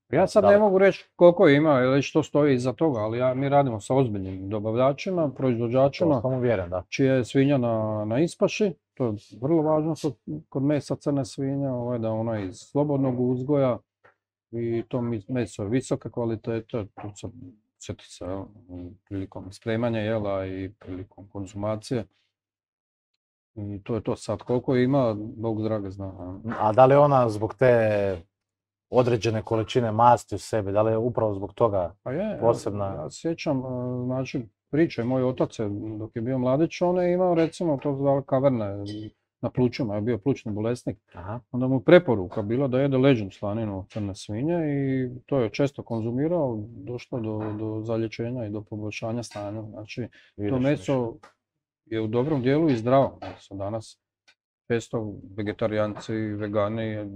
A: Ja sad
B: Da
A: ne
B: li-
A: mogu reći koliko ima ili što stoji iza toga, ali ja, mi radimo sa ozbiljnim dobavljačima,
B: To
A: proizvođačima,
B: sam uvjeren, da.
A: čija je svinja na, na ispaši. To je vrlo važno kod, kod mesa crne svinje, ovaj, da ona je iz slobodnog uzgoja i to mi- meso je visoke kvalitete, tu se sjeti se jel, prilikom spremanja jela i prilikom konzumacije. I to je to sad. Koliko ima, Bog drage zna. jel.
B: A da li ona zbog te određene količine masti u sebi, da li je upravo zbog toga?
A: Pa je, evo,
B: Posebna-
A: ja se sjećam, e, znači, priče, moj otac je, dok je bio mladić, on je imao, recimo, to zvali kaverne na plućima, je bio plućni bolesnik.
B: Aha.
A: Onda mu preporuka bila da jede leđnu slaninu od crne svinje i to je često konzumirao, došlo do, do zalječenja i do poboljšanja stanja. Znači, to
B: Vidiš,
A: meso je u dobrom dijelu i zdravo meso. Danas često vegetarijanci, vegani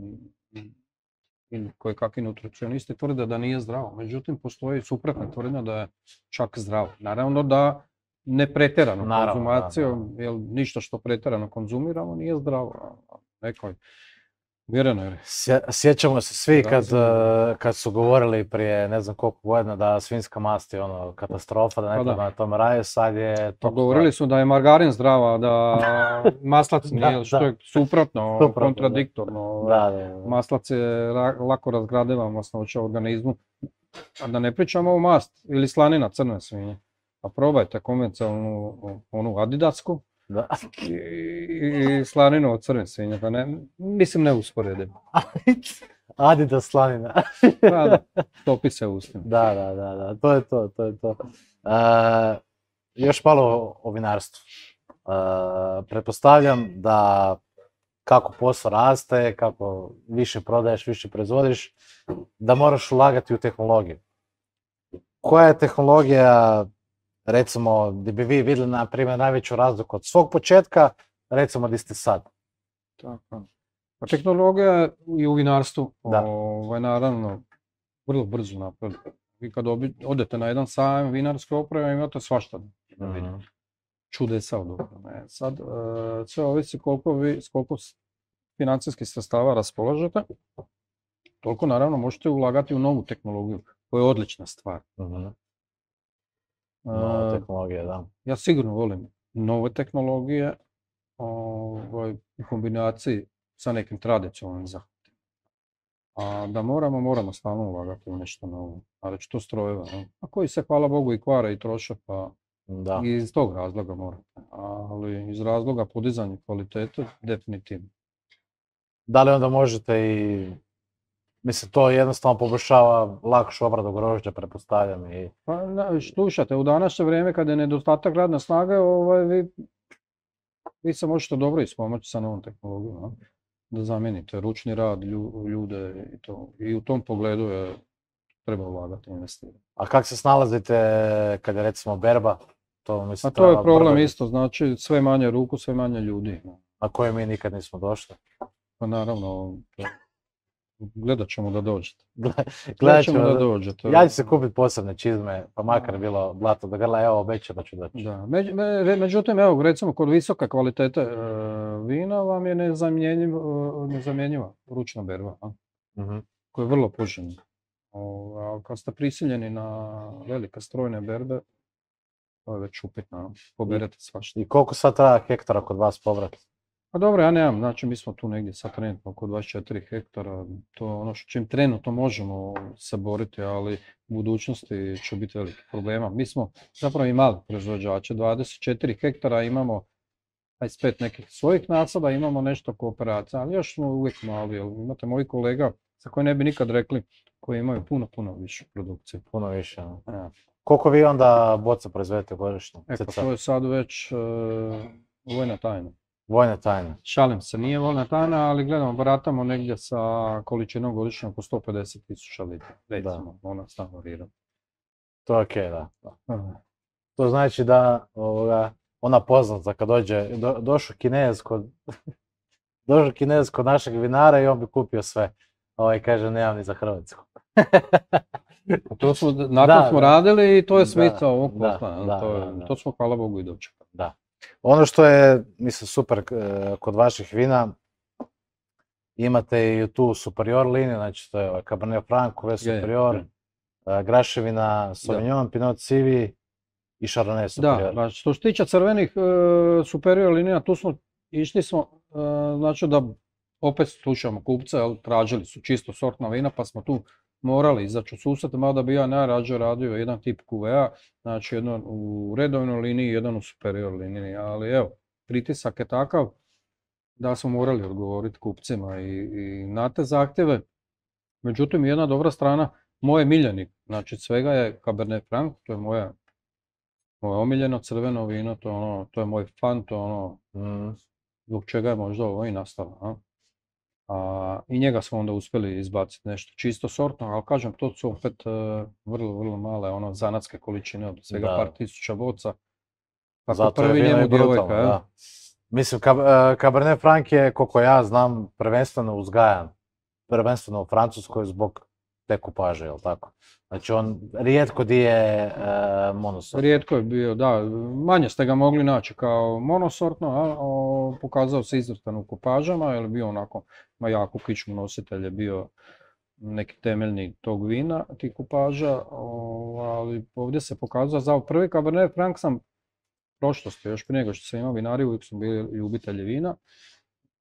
A: i koji kakvi nutricionisti tvrde da nije zdravo. Međutim, postoji suprotna tvrdnja da je čak zdravo. Naravno da ne pretjerano
B: Naravno, da,
A: konzumacijom, jer ništa što pretjerano konzumiramo nije zdravo. Nekoj vjerenoj
B: Sje- Sjećamo se svi kad,
A: Razumno.
B: eh, kad su govorili prije ne znam koliko godina da svinjska mast je ono katastrofa, da ne
A: Pa da.
B: treba na tome raditi, sad je
A: Pa
B: top
A: govorili su da je margarin zdrava, da maslac
B: Da,
A: nije, što
B: da.
A: je suprotno,
B: Suprotno, da.
A: kontradiktorno.
B: stvar. Da, da, da.
A: Maslac je ra- lako razgradiva masnoća u organizmu. A da ne pričamo o mast ili slanina crne svinje. Pa probajte konvencionalnu onu adidasku
B: Da.
A: i, i slaninu od crne svinje. Pa ne, mislim ne usporedim.
B: Adidas slanina.
A: Pa da, topi se u ustima.
B: Da, da, da, da, to je to, to je to. E, još malo o- o vinarstvu. E, pretpostavljam da kako posao raste, kako više prodaješ, više proizvodiš, da moraš ulagati u tehnologiju. Koja je tehnologija, recimo, gdje bi vi vidjeli, na primjer, najveću razliku od svog početka, recimo, gdje ste sad?
A: Tako. Pa tehnologija je i u vinarstvu,
B: Da.
A: ovaj, naravno, vrlo brzo napreduje. Vi kad obi- odete na jedan sajam vinarske opreme, imate svašta da vidite.
B: Mhm.
A: Čudesa od opreme. Sad, e, sve ovisi koliko vi, s koliko s- financijskih sredstava raspolažete, toliko naravno možete ulagati u novu tehnologiju. To je odlična stvar.
B: Mhm.
A: E,
B: Nova tehnologija, da.
A: ja sigurno volim nove tehnologije ovaj, u kombinaciji sa nekim tradicionalnim zahvatima. A da moramo, moramo stalno ulagati u nešto novo. A reći to strojeva, ne? A koji se, hvala Bogu, i kvare i troše, pa
B: Da.
A: i iz tog razloga morate. Ali iz razloga podizanja kvalitete, definitivno.
B: Da li onda možete i, mislim, to jednostavno poboljšava lakšu obradu grožđa, pretpostavljam i...
A: Pa, na- slušajte, u današnje vrijeme kad je nedostatak radne snage, ovaj, vi, vi se možete dobro ispomoći sa novom tehnologijom, a? Da zamijenite ručni rad, lju- ljude i to. I u tom pogledu je treba ulagati, investirati.
B: A kak se snalazite kad je recimo berba? To, mislim,
A: A to je
B: treba
A: problem
B: brdo-
A: isto, znači sve manje ruku, sve manje ljudi.
B: na koje mi nikad nismo došli.
A: Pa naravno, gledat ćemo da dođete.
B: Gledat
A: Gledat ćemo
B: ćemo
A: da
B: da-
A: dođete.
B: Ja ću se kupiti posebne čizme, pa makar bilo blato do grla, evo obećam da ću doći.
A: Da. Među- me- re- međutim, evo, recimo, kod visoke kvalitete e, vina vam je nezamjenjiv, e, nezamjenjiva ručna berba, a,
B: Mhm.
A: koja je vrlo poželjna. O, a kad ste prisiljeni na velike strojne berbe, to je već upitno, a, poberete svašta.
B: I koliko sad treba hektara kod vas povrat?
A: Pa dobro, ja nemam, znači mi smo tu negdje sad trenutno oko dvadeset četiri hektara, to je ono što čim trenutno možemo se boriti, ali u budućnosti će biti veliki problema. Mi smo zapravo i mali proizvođači, dvadeset četiri hektara imamo dvadeset pet nekih svojih nasada, imamo nešto kooperacija, ali još smo uvijek mali, jer imate mojih kolega za koje ne bi nikad rekli, koji imaju puno, puno više produkcije.
B: Puno više. no.
A: Ja.
B: Koliko vi onda boca proizvedete godišnje?
A: E pa
B: Cca?
A: to je sad već e, vojna tajna.
B: Vojne tajne.
A: Šalim se, nije vojna tajna, ali gledamo, baratamo negdje sa količinom godišnje oko sto pedeset tisuća litara, recimo, ona stalno varira.
B: To je okej, da. da.
A: Aha.
B: To znači da ovoga, ona poznata kad dođe, do, došao Kinez kod došao Kinez kod našeg vinara i on bi kupio sve. Ovaj kaže nemam ni za Hrvatsku.
A: Pa to smo, na
B: Da,
A: to smo
B: da.
A: radili i to je
B: Da,
A: smisao ovog
B: da,
A: posla. jel?
B: da,
A: to, je-
B: da, da.
A: to smo, hvala Bogu, i dočekali.
B: Da. Ono što je, mislim, super e, kod vaših vina, imate i tu superior liniju, znači to je ovaj Cabernet Franc, Cuvée
A: Je, je,
B: superior,
A: je.
B: e, Graševina, Sauvignon, Pinot Civi i Chardonnay
A: Da,
B: superior.
A: ba, što se tiče crvenih e, superior linija, tu smo išli smo, e, znači da opet slušamo kupce, jel, tražili su čisto sortna vina, pa smo tu morali izaći u susret, mada bi ja najrađe radio jedan tip Cuvée, znači jedan u redovnoj liniji, jedan u superior liniji, ali evo, pritisak je takav da smo morali odgovoriti kupcima i, i na te zahtjeve. Međutim, jedna dobra strana, moj miljenik, znači svega je Cabernet Franc, to je moja moje omiljeno crveno vino, to je, ono, to je moj fan, to je ono
B: Mm,
A: zbog čega je možda ovo i nastalo. A? A, I njega smo onda uspjeli izbaciti nešto čisto sortno, ali kažem, to su opet e, vrlo, vrlo male ono, zanatske količine, od svega
B: Da.
A: par tisuća boca. Tako
B: Zato je
A: prvi
B: vino
A: njemu
B: i brutalno,
A: djevojka, jel?
B: da. Mislim, Cab- e, Cabernet Franc je, koliko ja znam, prvenstveno uzgajan, prvenstveno u Francuskoj zbog te kupaže, jel tako? Znači on rijetko di je e, monosort.
A: Rijetko je bio, da, manje ste ga mogli naći kao monosortno, a, o, pokazao se izvrstan u kupažama, jer je bio onako, ma jako kičmu nositelj je bio neki temeljni tog vina, tih kupaža, o, ali ovdje se pokazao, za prvi Cabernet Franc sam prošlosti, još prije nego što sam imao vinariju, uvijek smo bili ljubitelji vina,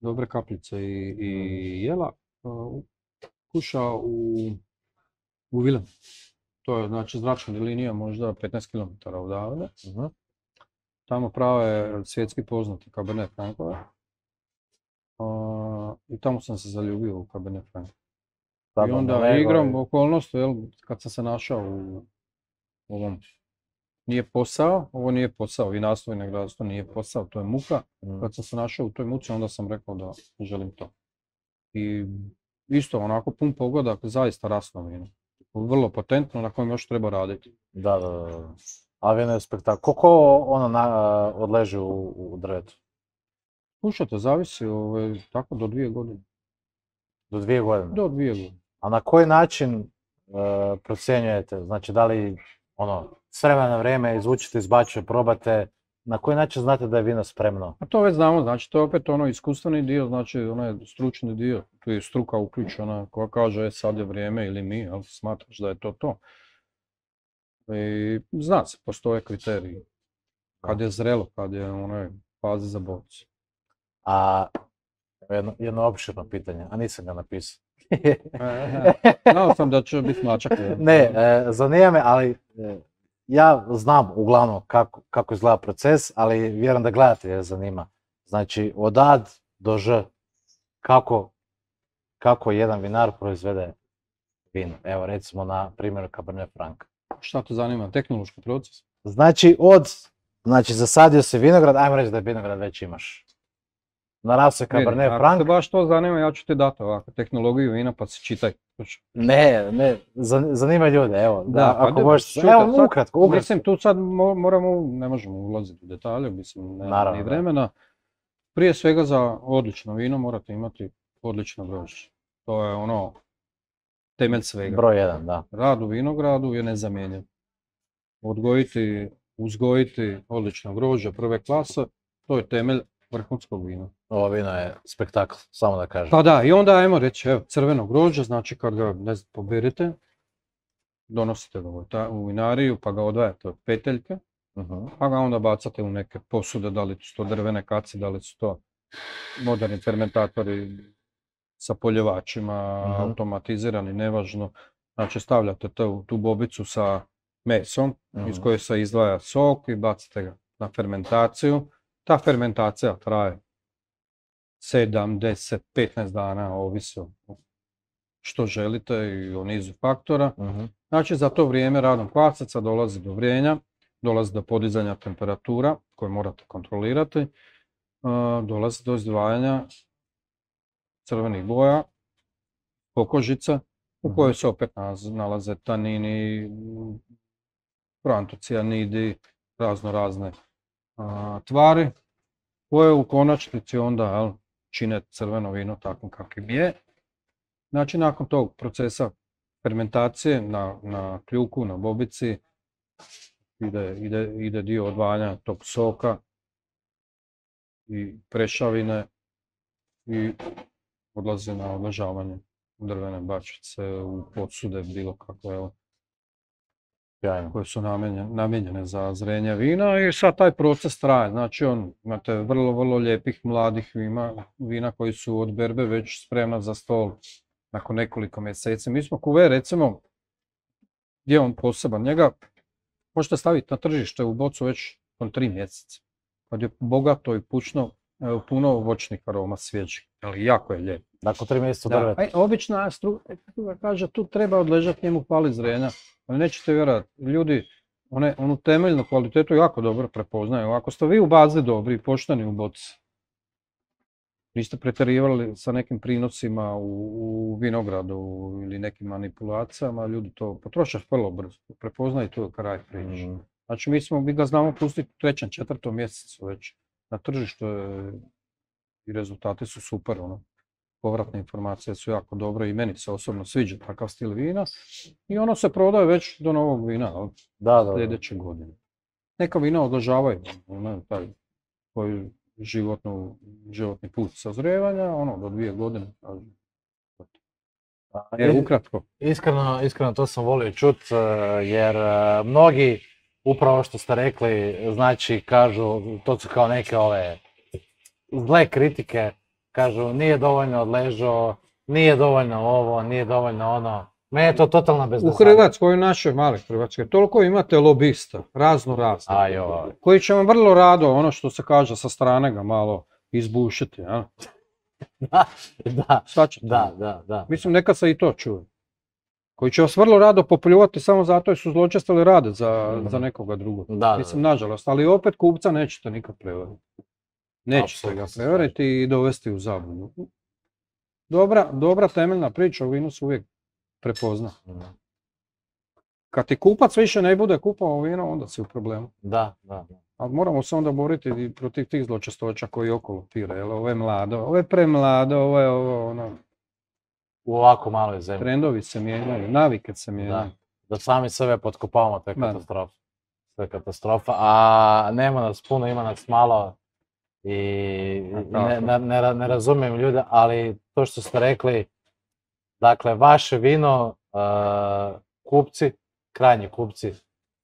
A: dobre kapljice i, i jela, o, kušao u, u Vilem. To je znači zračna linija možda petnaest kilometara odavde.
B: Mhm.
A: Tamo prave svjetski poznati Cabernet Francove. A, I tamo sam se zaljubio u Cabernet Franc.
B: Sad
A: I
B: vam
A: onda
B: lego
A: igrom
B: i-
A: okolnosti, jel, kad sam se našao u ovom, nije posao, ovo nije posao, vinarstvo i vinogradarstvo nije posao, to je muka.
B: Mm.
A: Kad sam se našao u toj muci, onda sam rekao da želim to. I isto onako pun pogodak, zaista rasno vino. Vrlo potentno, na kojem još treba raditi.
B: Da, da, da. da. A vino je spektakl. Koliko ono na, odleži u, u drvetu?
A: Slušajte, zavisi, ovaj, tako do dvije godine.
B: Do dvije godine.
A: Do dvije godine.
B: A na koji način uh, procjenjujete? Znači, da li ono, s vremena na vrijeme izvučite iz bačve, probate, na koji način znate da je vino spremno?
A: A to već znamo, znači to je opet ono iskustveni dio, znači onaj stručni dio, tu je struka uključena koja kaže e, sad je vrijeme ili mi, ali smatraš da je to to. I zna se, postoje kriteriji. Kad je zrelo, kad je u onoj fazi za bocu.
B: A jedno, jedno opširno pitanje, a nisam ga napisao.
A: Znao sam da će biti mačak.
B: Ne, e, zanima me, ali e, ja znam uglavnom kako, kako izgleda proces, ali vjerujem da gledatelje zanima. Znači, od A do Ž, kako, kako jedan vinar proizvede vino. Evo, recimo na primjeru Cabernet Franc.
A: Šta te zanima? Tehnološki proces?
B: Znači, od, znači, zasadio se vinograd, ajmo reći da je vinograd već imaš. Narastao je Cabernet
A: Ako
B: Franc.
A: te baš to zanima, ja ću ti dati ovako, tehnologiju vina pa si čitaj.
B: Ne, ne, zan- zanima ljude, evo, da,
A: Da, pa
B: ako
A: da,
B: možeš,
A: čujte,
B: evo,
A: sad,
B: ukratko, ukratko.
A: Mislim, tu sad mo- moramo, ne možemo ulaziti u detalje, mislim, nema
B: Naravno,
A: ni
B: da.
A: vremena. Prije svega za odlično vino morate imati odlično grožđe. To je ono, temelj svega.
B: Broj jedan, da.
A: Rad u vinogradu je nezamjenjiv. Odgojiti, uzgojiti odlično grožđe prve klase, to je temelj vrhunskog vina.
B: Ovo vino je spektakl, samo da kažem.
A: Pa da, i onda ajmo reći, evo, crveno grožđe, znači kad ga, ne znam, poberete, donosite ga u ta- u vinariju, pa ga odvajate od peteljke,
B: Mhm.
A: pa ga onda bacate u neke posude, da li su to drvene kace, da li su to moderni fermentatori sa poljevačima,
B: Mhm.
A: automatizirani, nevažno. Znači stavljate to u tu bobicu sa mesom, iz
B: Mhm.
A: koje se izdvaja sok i bacite ga na fermentaciju. Ta fermentacija traje sedam, deset, petnaest dana, ovisi o što želite i o nizu faktora.
B: Mhm.
A: Znači za to vrijeme radom kvasaca dolazi do vrenja, dolazi do podizanja temperatura koje morate kontrolirati, e, dolazi do izdvajanja crvenih boja, pokožica u kojoj se opet naz- nalaze tanini, proantocijanidi, razno razne a, tvari koje u konačnici onda jel, čine crveno vino takvim kakvim je. Znači nakon tog procesa fermentacije na, na kljuku, na bobici ide, ide, ide dio odvajanja tog soka i prešavine i odlazi na odležavanje u drvene bačvice, u posude bilo kakve evo,
B: Sjajno.
A: koje su namijenjene, namijenjene za zrenje vina i sad taj proces traje. Znači on, imate vrlo, vrlo lijepih mladih vina, vina koji su od berbe već spremna za stol nakon nekoliko mjeseci. Mi smo kuve, recimo, gdje je on poseban, njega možete staviti na tržište u bocu već on tri mjeseca. Kad je bogato i pučno, e, puno voćnih aroma svježih, ali jako je lijep.
B: Nakon tri mjeseca
A: Da,
B: drveta.
A: aj, obična struka kaže tu treba odležati, njemu fali zrenja, ali nećete vjerovati, ljudi one, onu temeljnu kvalitetu jako dobro prepoznaju. Ako ste vi u bazi dobri i pošteni u boci, niste pretjerivali sa nekim prinosima u, u vinogradu ili nekim manipulacijama, ljudi to potroše vrlo brzo, prepoznaju to kraj priče.
B: Mhm.
A: Znači mi, smo, mi ga znamo pustiti u trećem, četvrtom mjesecu već na tržištu je, i rezultati su super. Ono. Povratne informacije su jako dobre i meni se osobno sviđa takav stil vina i ono se prodaje već do novog vina, jel,
B: Da, da, da.
A: sljedeće godine. Neka vina odležavaju, ono, taj koji životnu, životni put sazrijevanja, ono, do dvije godine. kažem.
B: A,
A: E,
B: i-
A: ukratko.
B: Iskreno, iskreno to sam volio čut, e, jer e, mnogi, upravo što ste rekli, znači kažu, to su kao neke ove zle kritike, kažu nije dovoljno odležao, nije dovoljno ovo, nije dovoljno ono. Meni je to totalna
A: U
B: bezdazada.
A: Hrvatskoj, u našoj maloj Hrvatskoj, toliko imate lobista, razno razno,
B: A joj.
A: koji će vam vrlo rado, ono što se kaže sa strane ga malo izbušiti, jel?
B: Da, da,
A: Shvaćate?
B: da, da, da.
A: Mislim, neka se i to čuje. Koji će vas vrlo rado popljuvati samo zato jer su zločestili rade za,
B: Mhm.
A: za nekoga drugog.
B: Da, da,
A: Mislim,
B: da.
A: nažalost, ali opet kupca nećete nikad prevariti. Nećete
B: Apsolutno
A: ga
B: se
A: prevariti i dovesti u zabludu. Dobra, dobra temeljna priča u vinu se uvijek prepozna.
B: Mhm.
A: Kad ti kupac više ne bude kupao vino, onda si u problemu.
B: Da, da, da.
A: Ali moramo se onda boriti i protiv tih zločestoća koji okolo pire. Jel, ovo je mlado, ovo je premlado, ovo je ovo, ono.
B: u ovako maloj zemlji.
A: Trendovi se mijenjaju, navike se mijenjaju.
B: Da, da sami sebe potkopavamo, to je
A: Ma.
B: katastrofa. To je katastrofa, a nema nas puno, ima nas malo i
A: A
B: ne,
A: tako.
B: ne, ne, ra- ne razumijem ljude, ali to što ste rekli, dakle, vaše vino, uh, kupci, krajnji kupci,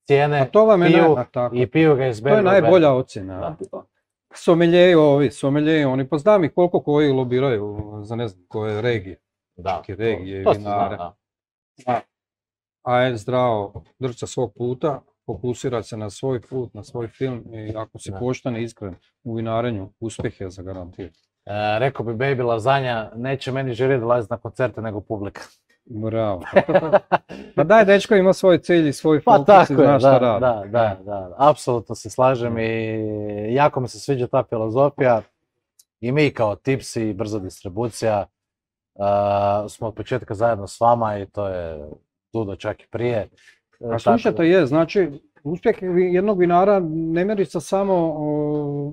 B: cijene,
A: A to vam je
B: piju
A: naj- a tako.
B: i piju ga iz
A: To je
B: berbe u
A: najbolja
B: berbu.
A: ocjena. Someljeji ovi, someljeji oni, pa znam ih koliko koji lobiraju za ne znam koje regije.
B: Da,
A: čak i
B: to-
A: regije i
B: to se zna,
A: vinare.
B: da.
A: A je zdravo, drž se svog puta, fokusira se na svoj put, na svoj film i ako si
B: Da.
A: pošten i iskren u vinarenju, uspjeh je zagarantiran.
B: E, rekao bi Baby Lazanja, neće meni žiri dolaziti na koncerte nego publika.
A: Bravo. Pa daj, dečko ima svoj cilj i svoj
B: Pa
A: fokus i
B: tako
A: zna
B: je,
A: šta
B: da,
A: radi.
B: da, da, da, apsolutno se slažem i jako mi se sviđa ta filozofija i mi kao Tipsi i brza distribucija uh, smo od početka zajedno s vama i to je Dudo čak i prije. E,
A: A
B: tako
A: slušajte, je, znači, uspjeh vi- jednog vinara ne mjeri se samo o,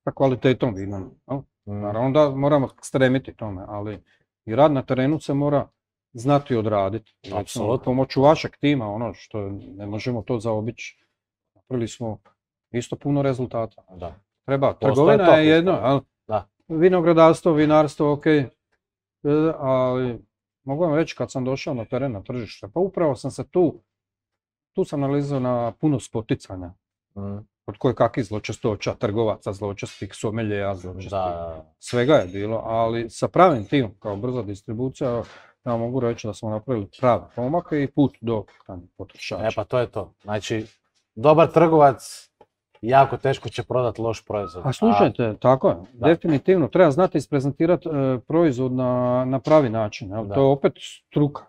A: sa kvalitetom vina. jel?
B: da, mm,
A: Naravno da moramo stremiti tome, ali i rad na terenu se mora znati odraditi. Recimo,
B: Apsolutno.
A: pomoću vašeg tima, ono što ne možemo to zaobići, napravili smo isto puno rezultata.
B: da.
A: Treba,
B: Postoje
A: trgovina
B: top
A: je jedno,
B: isto,
A: ali
B: da.
A: vinogradarstvo, vinarstvo, ok, e, ali mogu vam reći kad sam došao na teren, na tržište, pa upravo sam se tu, tu sam nalazio na puno spoticanja.
B: Mm,
A: Od koje kakvih zločestoća, trgovaca zločestih, someljeja zločestih,
B: da,
A: svega je bilo, ali sa pravim timom, kao brza distribucija, ja mogu reći da smo napravili pravi pomak i put do krajnjeg potrošača.
B: e pa to je to. Znači, dobar trgovac jako teško će prodati loš proizvod.
A: A slušajte, tako je,
B: Da.
A: definitivno, treba znati isprezentirati e, proizvod na, na pravi način, jel?
B: Da.
A: To je opet struka.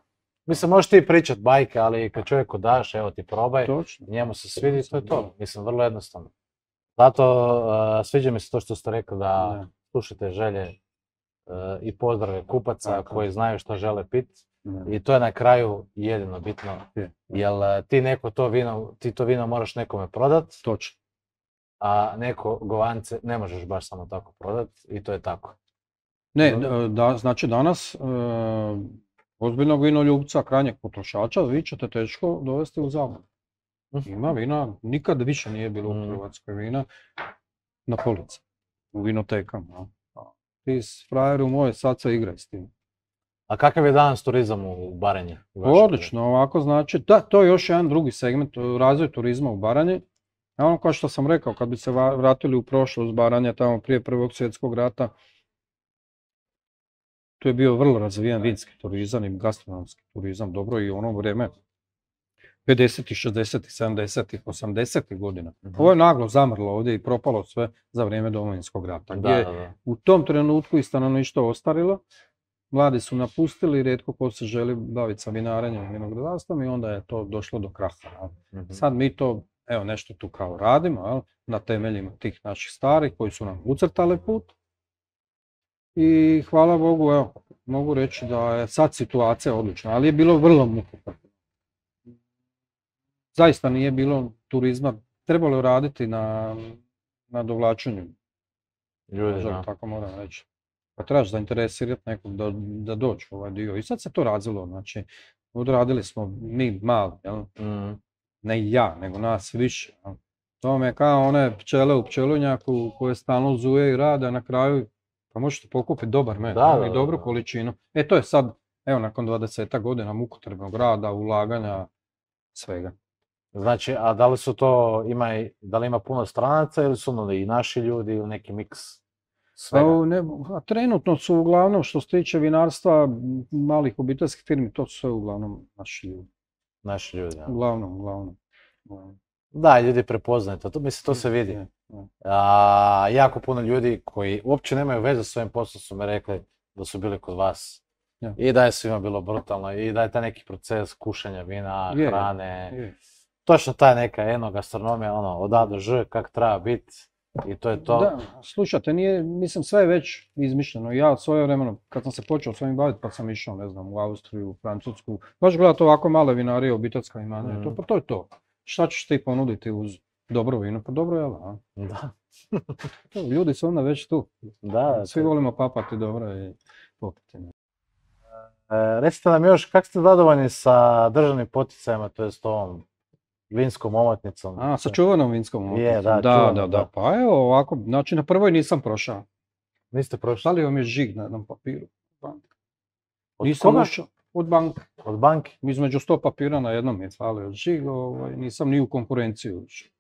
B: Mislim, možeš ti pričat bajke, ali kad čovjeku daš, evo ti probaj,
A: Točno.
B: njemu se svidi, to je to. Mislim, vrlo jednostavno. Zato uh, sviđa mi se to što ste rekli da
A: Da.
B: slušate želje uh, i pozdrave kupaca
A: Tako.
B: koji znaju što žele pit.
A: Da.
B: I to je na kraju jedino bitno.
A: Je.
B: Jel uh, ti neko to vino, ti to vino moraš nekome prodat,
A: Točno.
B: a neko govance ne možeš baš samo tako prodat i to je tako.
A: Ne,
B: Dobro.
A: d- da, znači danas e, ozbiljnog vinoljubca, krajnjeg potrošača, vi ćete teško dovesti u zabludu. Ima vina, nikad više nije bilo u
B: Mm.
A: Hrvatskoj vina na polici, u vinotekama. jel? A ti s frajeru moj, sad se igraj s tim.
B: A kakav je danas turizam u Baranji? u vašem
A: Odlično, ovako znači, da, to je još jedan drugi segment, e, razvoj turizma u Baranji. A ono kao što sam rekao, kad bi se va- vratili u prošlost Baranje, tamo prije Prvog svjetskog rata, tu je bio vrlo razvijen vinski turizam i gastronomski turizam, dobro i u ono vrijeme pedesetih, šezdesetih, sedamdesetih, osamdesetih godina.
B: Mhm.
A: Ovo je naglo zamrlo ovdje i propalo sve za vrijeme Domovinskog rata, gdje
B: Da,
A: je
B: da, da.
A: u tom trenutku i stanovništvo ostarilo, mladi su napustili, rijetko ko se želi baviti sa vinarenjem i vinogradarstvom i onda je to došlo do kraha. jel.
B: Mhm.
A: Sad mi to, evo nešto tu kao radimo, jel, na temeljima tih naših starih koji su nam ucrtali put. I hvala Bogu, evo, mogu reći da je sad situacija odlična, ali je bilo vrlo mukotrpno. Zaista nije bilo turizma, trebalo je raditi na, na dovlačenju,
B: Ljudi,
A: možda
B: da.
A: tako moram reći. Pa trebaš zainteresirati nekog da, da dođe u ovaj dio. I sad se to razvilo, znači, odradili smo mi mali, jel?
B: Mm,
A: Ne ja, nego nas više. jel. To vam je kao one pčele u pčelinjaku koje stalno zuje i rade, a na kraju pa možete pokupiti dobar med
B: Da,
A: jel,
B: da,
A: i
B: da,
A: dobru
B: da.
A: količinu. E to je sad, evo nakon dvadesetak godina mukotrpnog rada, ulaganja, svega.
B: Znači, a da li su to, ima, i- da li ima puno stranaca ili su ono i naši ljudi ili neki miks svega?
A: Pa, ne, a trenutno su uglavnom što se tiče vinarstva, m, malih obiteljskih firmi, to su sve uglavnom naši ljudi.
B: Naši ljudi, da.
A: Uglavnom, uglavnom. uglavnom.
B: Da, ljudi prepoznaju to, to, mislim, to se vidi.
A: Je, je.
B: A, jako puno ljudi koji uopće nemaju veze s svojim poslom su mi rekli da su bili kod vas.
A: Ja.
B: I da je svima bilo brutalno, i da je taj neki proces kušanja vina,
A: Je, je,
B: hrane,
A: je.
B: točno ta neka enogastronomija, ono, od A do Ž, kak treba biti, i to je to.
A: Da, slušajte, nije, mislim sve je već izmišljeno. Ja svoje vremeno, kad sam se počeo s ovim baviti, pa sam išao, ne znam, u Austriju, u Francusku, baš gledati ovako male vinarije, obiteljska imanja, i to,
B: Mhm.
A: pa to je to. Šta ćeš ti ponuditi uz dobro vino? Pa dobro je, a?
B: Da,
A: To, ljudi su onda već tu.
B: da,
A: Svi
B: to-
A: volimo papati dobro i popiti. ne.
B: recite nam još, kako ste zadovoljni sa državnim poticajima, to jest ovom vinskom omotnicom?
A: A, sa čuvanom vinskom omotnicom.
B: Je, da,
A: da,
B: čuvano,
A: da, da.
B: da.
A: Pa evo ovako, znači na prvoj nisam prošao.
B: Niste prošli?
A: Stavio mi je žig na jednom papiru.
B: Od
A: Nisam
B: koga?
A: ušao od banke.
B: Od banke?
A: Između sto papira na jednom je falio žig, ovaj, nisam ni u konkurenciju ušao.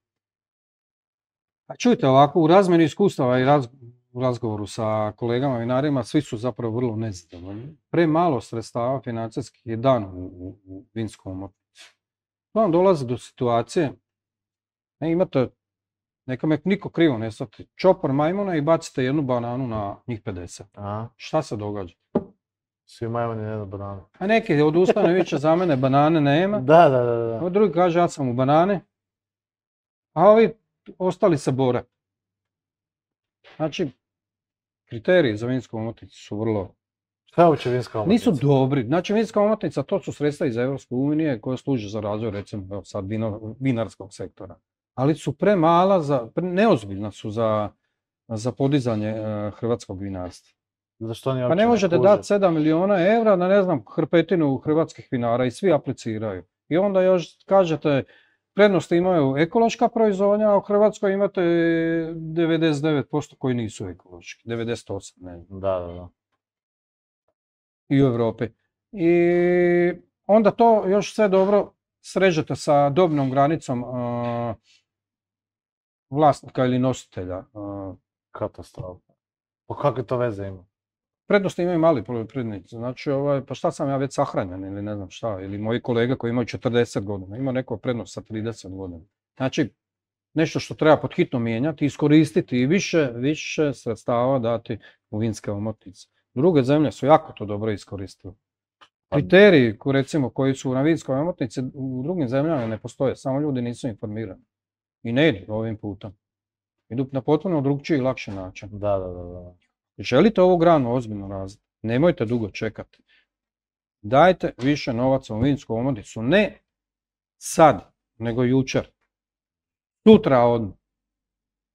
A: A čujte, ovako, u razmjeni iskustava i raz, u razgovoru sa kolegama vinarima, svi su zapravo vrlo nezadovoljni. Premalo sredstava financijskih je dan u, u, u vinskom omotnicu. Vam dolazi do situacije, ne imate, neka me niko krivo ne shvati, čopor majmuna i bacite jednu bananu na njih pedeset.
B: Aha.
A: Šta se događa?
B: Svi majmuni na jednu bananu.
A: A neki odustane više za mene, banane nema.
B: Da, da, da. da.
A: A drugi kaže ja sam u banane, a ovi ostali se bore. Znači, kriteriji za vinsku omotnicu su vrlo...
B: Šta je uopće vinska omotnica?
A: Nisu dobri. Znači, vinska omotnica, to su sredstva iz Europske unije koje služe za razvoj, recimo, evo sad, vino, vinarskog sektora. Ali su premala, za, pre, neozbiljna su za, za podizanje uh, hrvatskog vinarstva.
B: Zašto oni
A: Pa ne možete dati sedam milijuna eura na, ne znam, hrpetinu hrvatskih vinara i svi apliciraju. I onda još kažete, prednosti imaju ekološka proizvodnja, a u Hrvatskoj imate devedeset devet posto koji nisu ekološki, devedeset osam ne znam.
B: Da, da, da.
A: I u Europi. I onda to još sve dobro srežete sa dobnom granicom uh, vlasnika ili nositelja. Uh,
B: Katastrofa. Pa kakve to veze ima?
A: Prednosti imaju mali poljoprivrednici, znači ovaj, pa šta sam ja već sahranjen ili ne znam šta, ili moji kolege koji imaju četrdeset godina, ima neko prednost sa trideset godina. Znači, nešto što treba pod hitno mijenjati, iskoristiti i više, više sredstava dati u vinske omotnice. Druge zemlje su jako to dobro iskoristile. Kriteriji, recimo, koji su na vinskoj omotnici u drugim zemljama ne postoje, samo ljudi nisu informirani. I ne idu ovim putem. Idu na potpuno drugčiji i lakši način.
B: Da, da, da, da.
A: Želite ovu granu ozbiljno razviti, nemojte dugo čekati. Dajte više novaca u vinsku omotnicu, ne sad, nego jučer. Sutra odmah.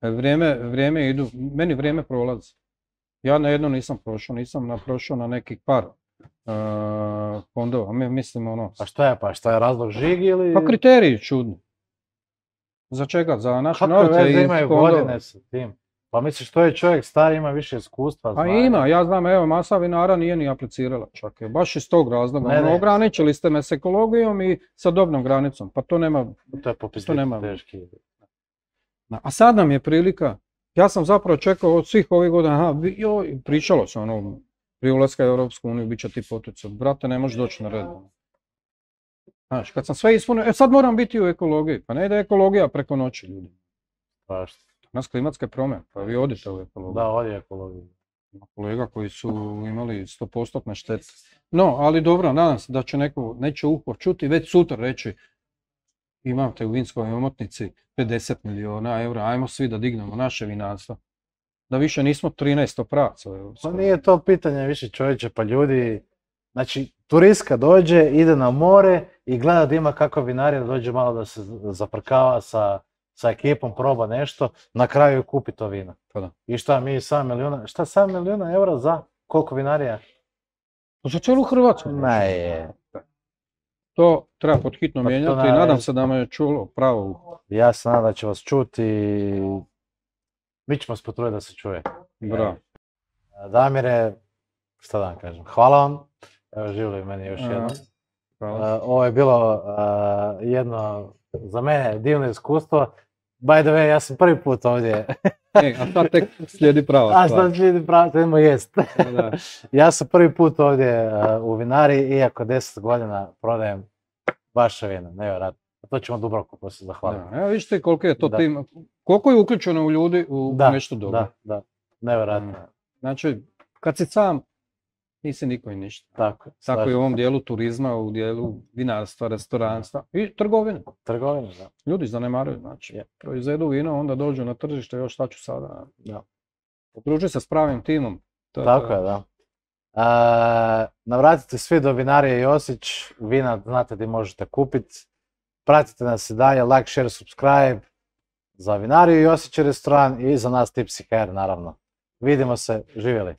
A: Vrijeme, vrijeme idu, meni vrijeme prolazi. Ja na jedno nisam prošao, nisam na, prošao na nekih par uh, fondova, mi mislim ono...
B: A šta je pa, šta je razlog žig ili...
A: Pa kriteriji čudni. Za čega? Za naše novce i
B: Kakve veze imaju
A: fondova.
B: godine sa tim? Pa misliš, što je čovjek stari, ima više iskustva,
A: Pa
B: znanja.
A: ima, ja znam, evo, masa vinara nije ni aplicirala čak, je, baš iz tog razloga.
B: Ne,
A: Ono,
B: ne.
A: ograničili ste me s ekologijom i sa dobnom granicom, pa to nema...
B: To je popis
A: To nema.
B: teški.
A: A sad nam je prilika, ja sam zapravo čekao od svih ovih godina, aha, vi- joj, pričalo se ono, prije ulaska u Europsku uniju, bit će ti poticaj, brate, ne možeš doći na red. Znaš, kad sam sve ispunio, e sad moram biti u ekologiji, pa ne ide ekologija preko noći, ljudi.
B: Pa šta?
A: Nas klimatske promjene, pa vi odite u ekologiju.
B: Da, ovdje je ekologija.
A: Ima kolega koji su imali sto posto štete. No, ali dobro, nadam se da će neko, neće uho čuti, već sutra reći imate u vinskoj omotnici pedeset milijuna eura, ajmo svi da dignemo naše vinarstvo. Da više nismo trinaest praca.
B: Pa nije to pitanje više čovječe, pa ljudi, znači turistka dođe, ide na more i gleda da ima kakva vinarija, da dođe malo da se zaprkava sa, sa ekipom, proba nešto, na kraju kupi to vino.
A: Pa da.
B: I šta mi sedam milijuna, šta sedam milijuna eura za koliko vinarija?
A: Za cijelu Hrvatsku.
B: Ne je.
A: To treba pod hitno
B: Pa to
A: mijenjati i
B: na-
A: nadam se da me je čulo pravo uho.
B: Ja se nadam da će vas čuti i mi ćemo se potruditi da se čuje.
A: Bravo.
B: Damire, šta da vam kažem, hvala vam. Evo živjeli meni još
A: A,
B: jednom.
A: Hvala.
B: Uh, ovo je bilo uh, jedno za mene divno iskustvo. By the way, ja sam prvi put ovdje.
A: E, a sad tek slijedi prava
B: A
A: stvar.
B: sad slijedi pravo, idemo jest.
A: Da.
B: Ja sam prvi put ovdje uh, u vinari, iako deset godina prodajem vaše vino, nevjerojatno. To ćemo Dubravku poslije zahvaliti.
A: Da, evo vidite koliko je to
B: Da.
A: tim, koliko je uključeno u ljudi u
B: Da,
A: nešto dobro.
B: Da, da, nevjerojatno.
A: Znači, kad si sam, nisi niko i ništa.
B: Tako,
A: Tako i
B: slažem
A: u ovom
B: se.
A: dijelu turizma, u dijelu vinarstva, restoranstva i trgovine.
B: Trgovina, da.
A: Ljudi zanemaruju, znači,
B: Je.
A: proizvedu vino, onda dođu na tržište, još šta ću sada.
B: Da.
A: Okruži se s pravim timom. To
B: Tako
A: to.
B: je, da. E, navratite svi do vinarije Josić, vina znate gdje možete kupiti. Pratite nas i dalje, like, share, subscribe za vinariju Josić restoran i za nas Tipsy Hair naravno. Vidimo se, živjeli.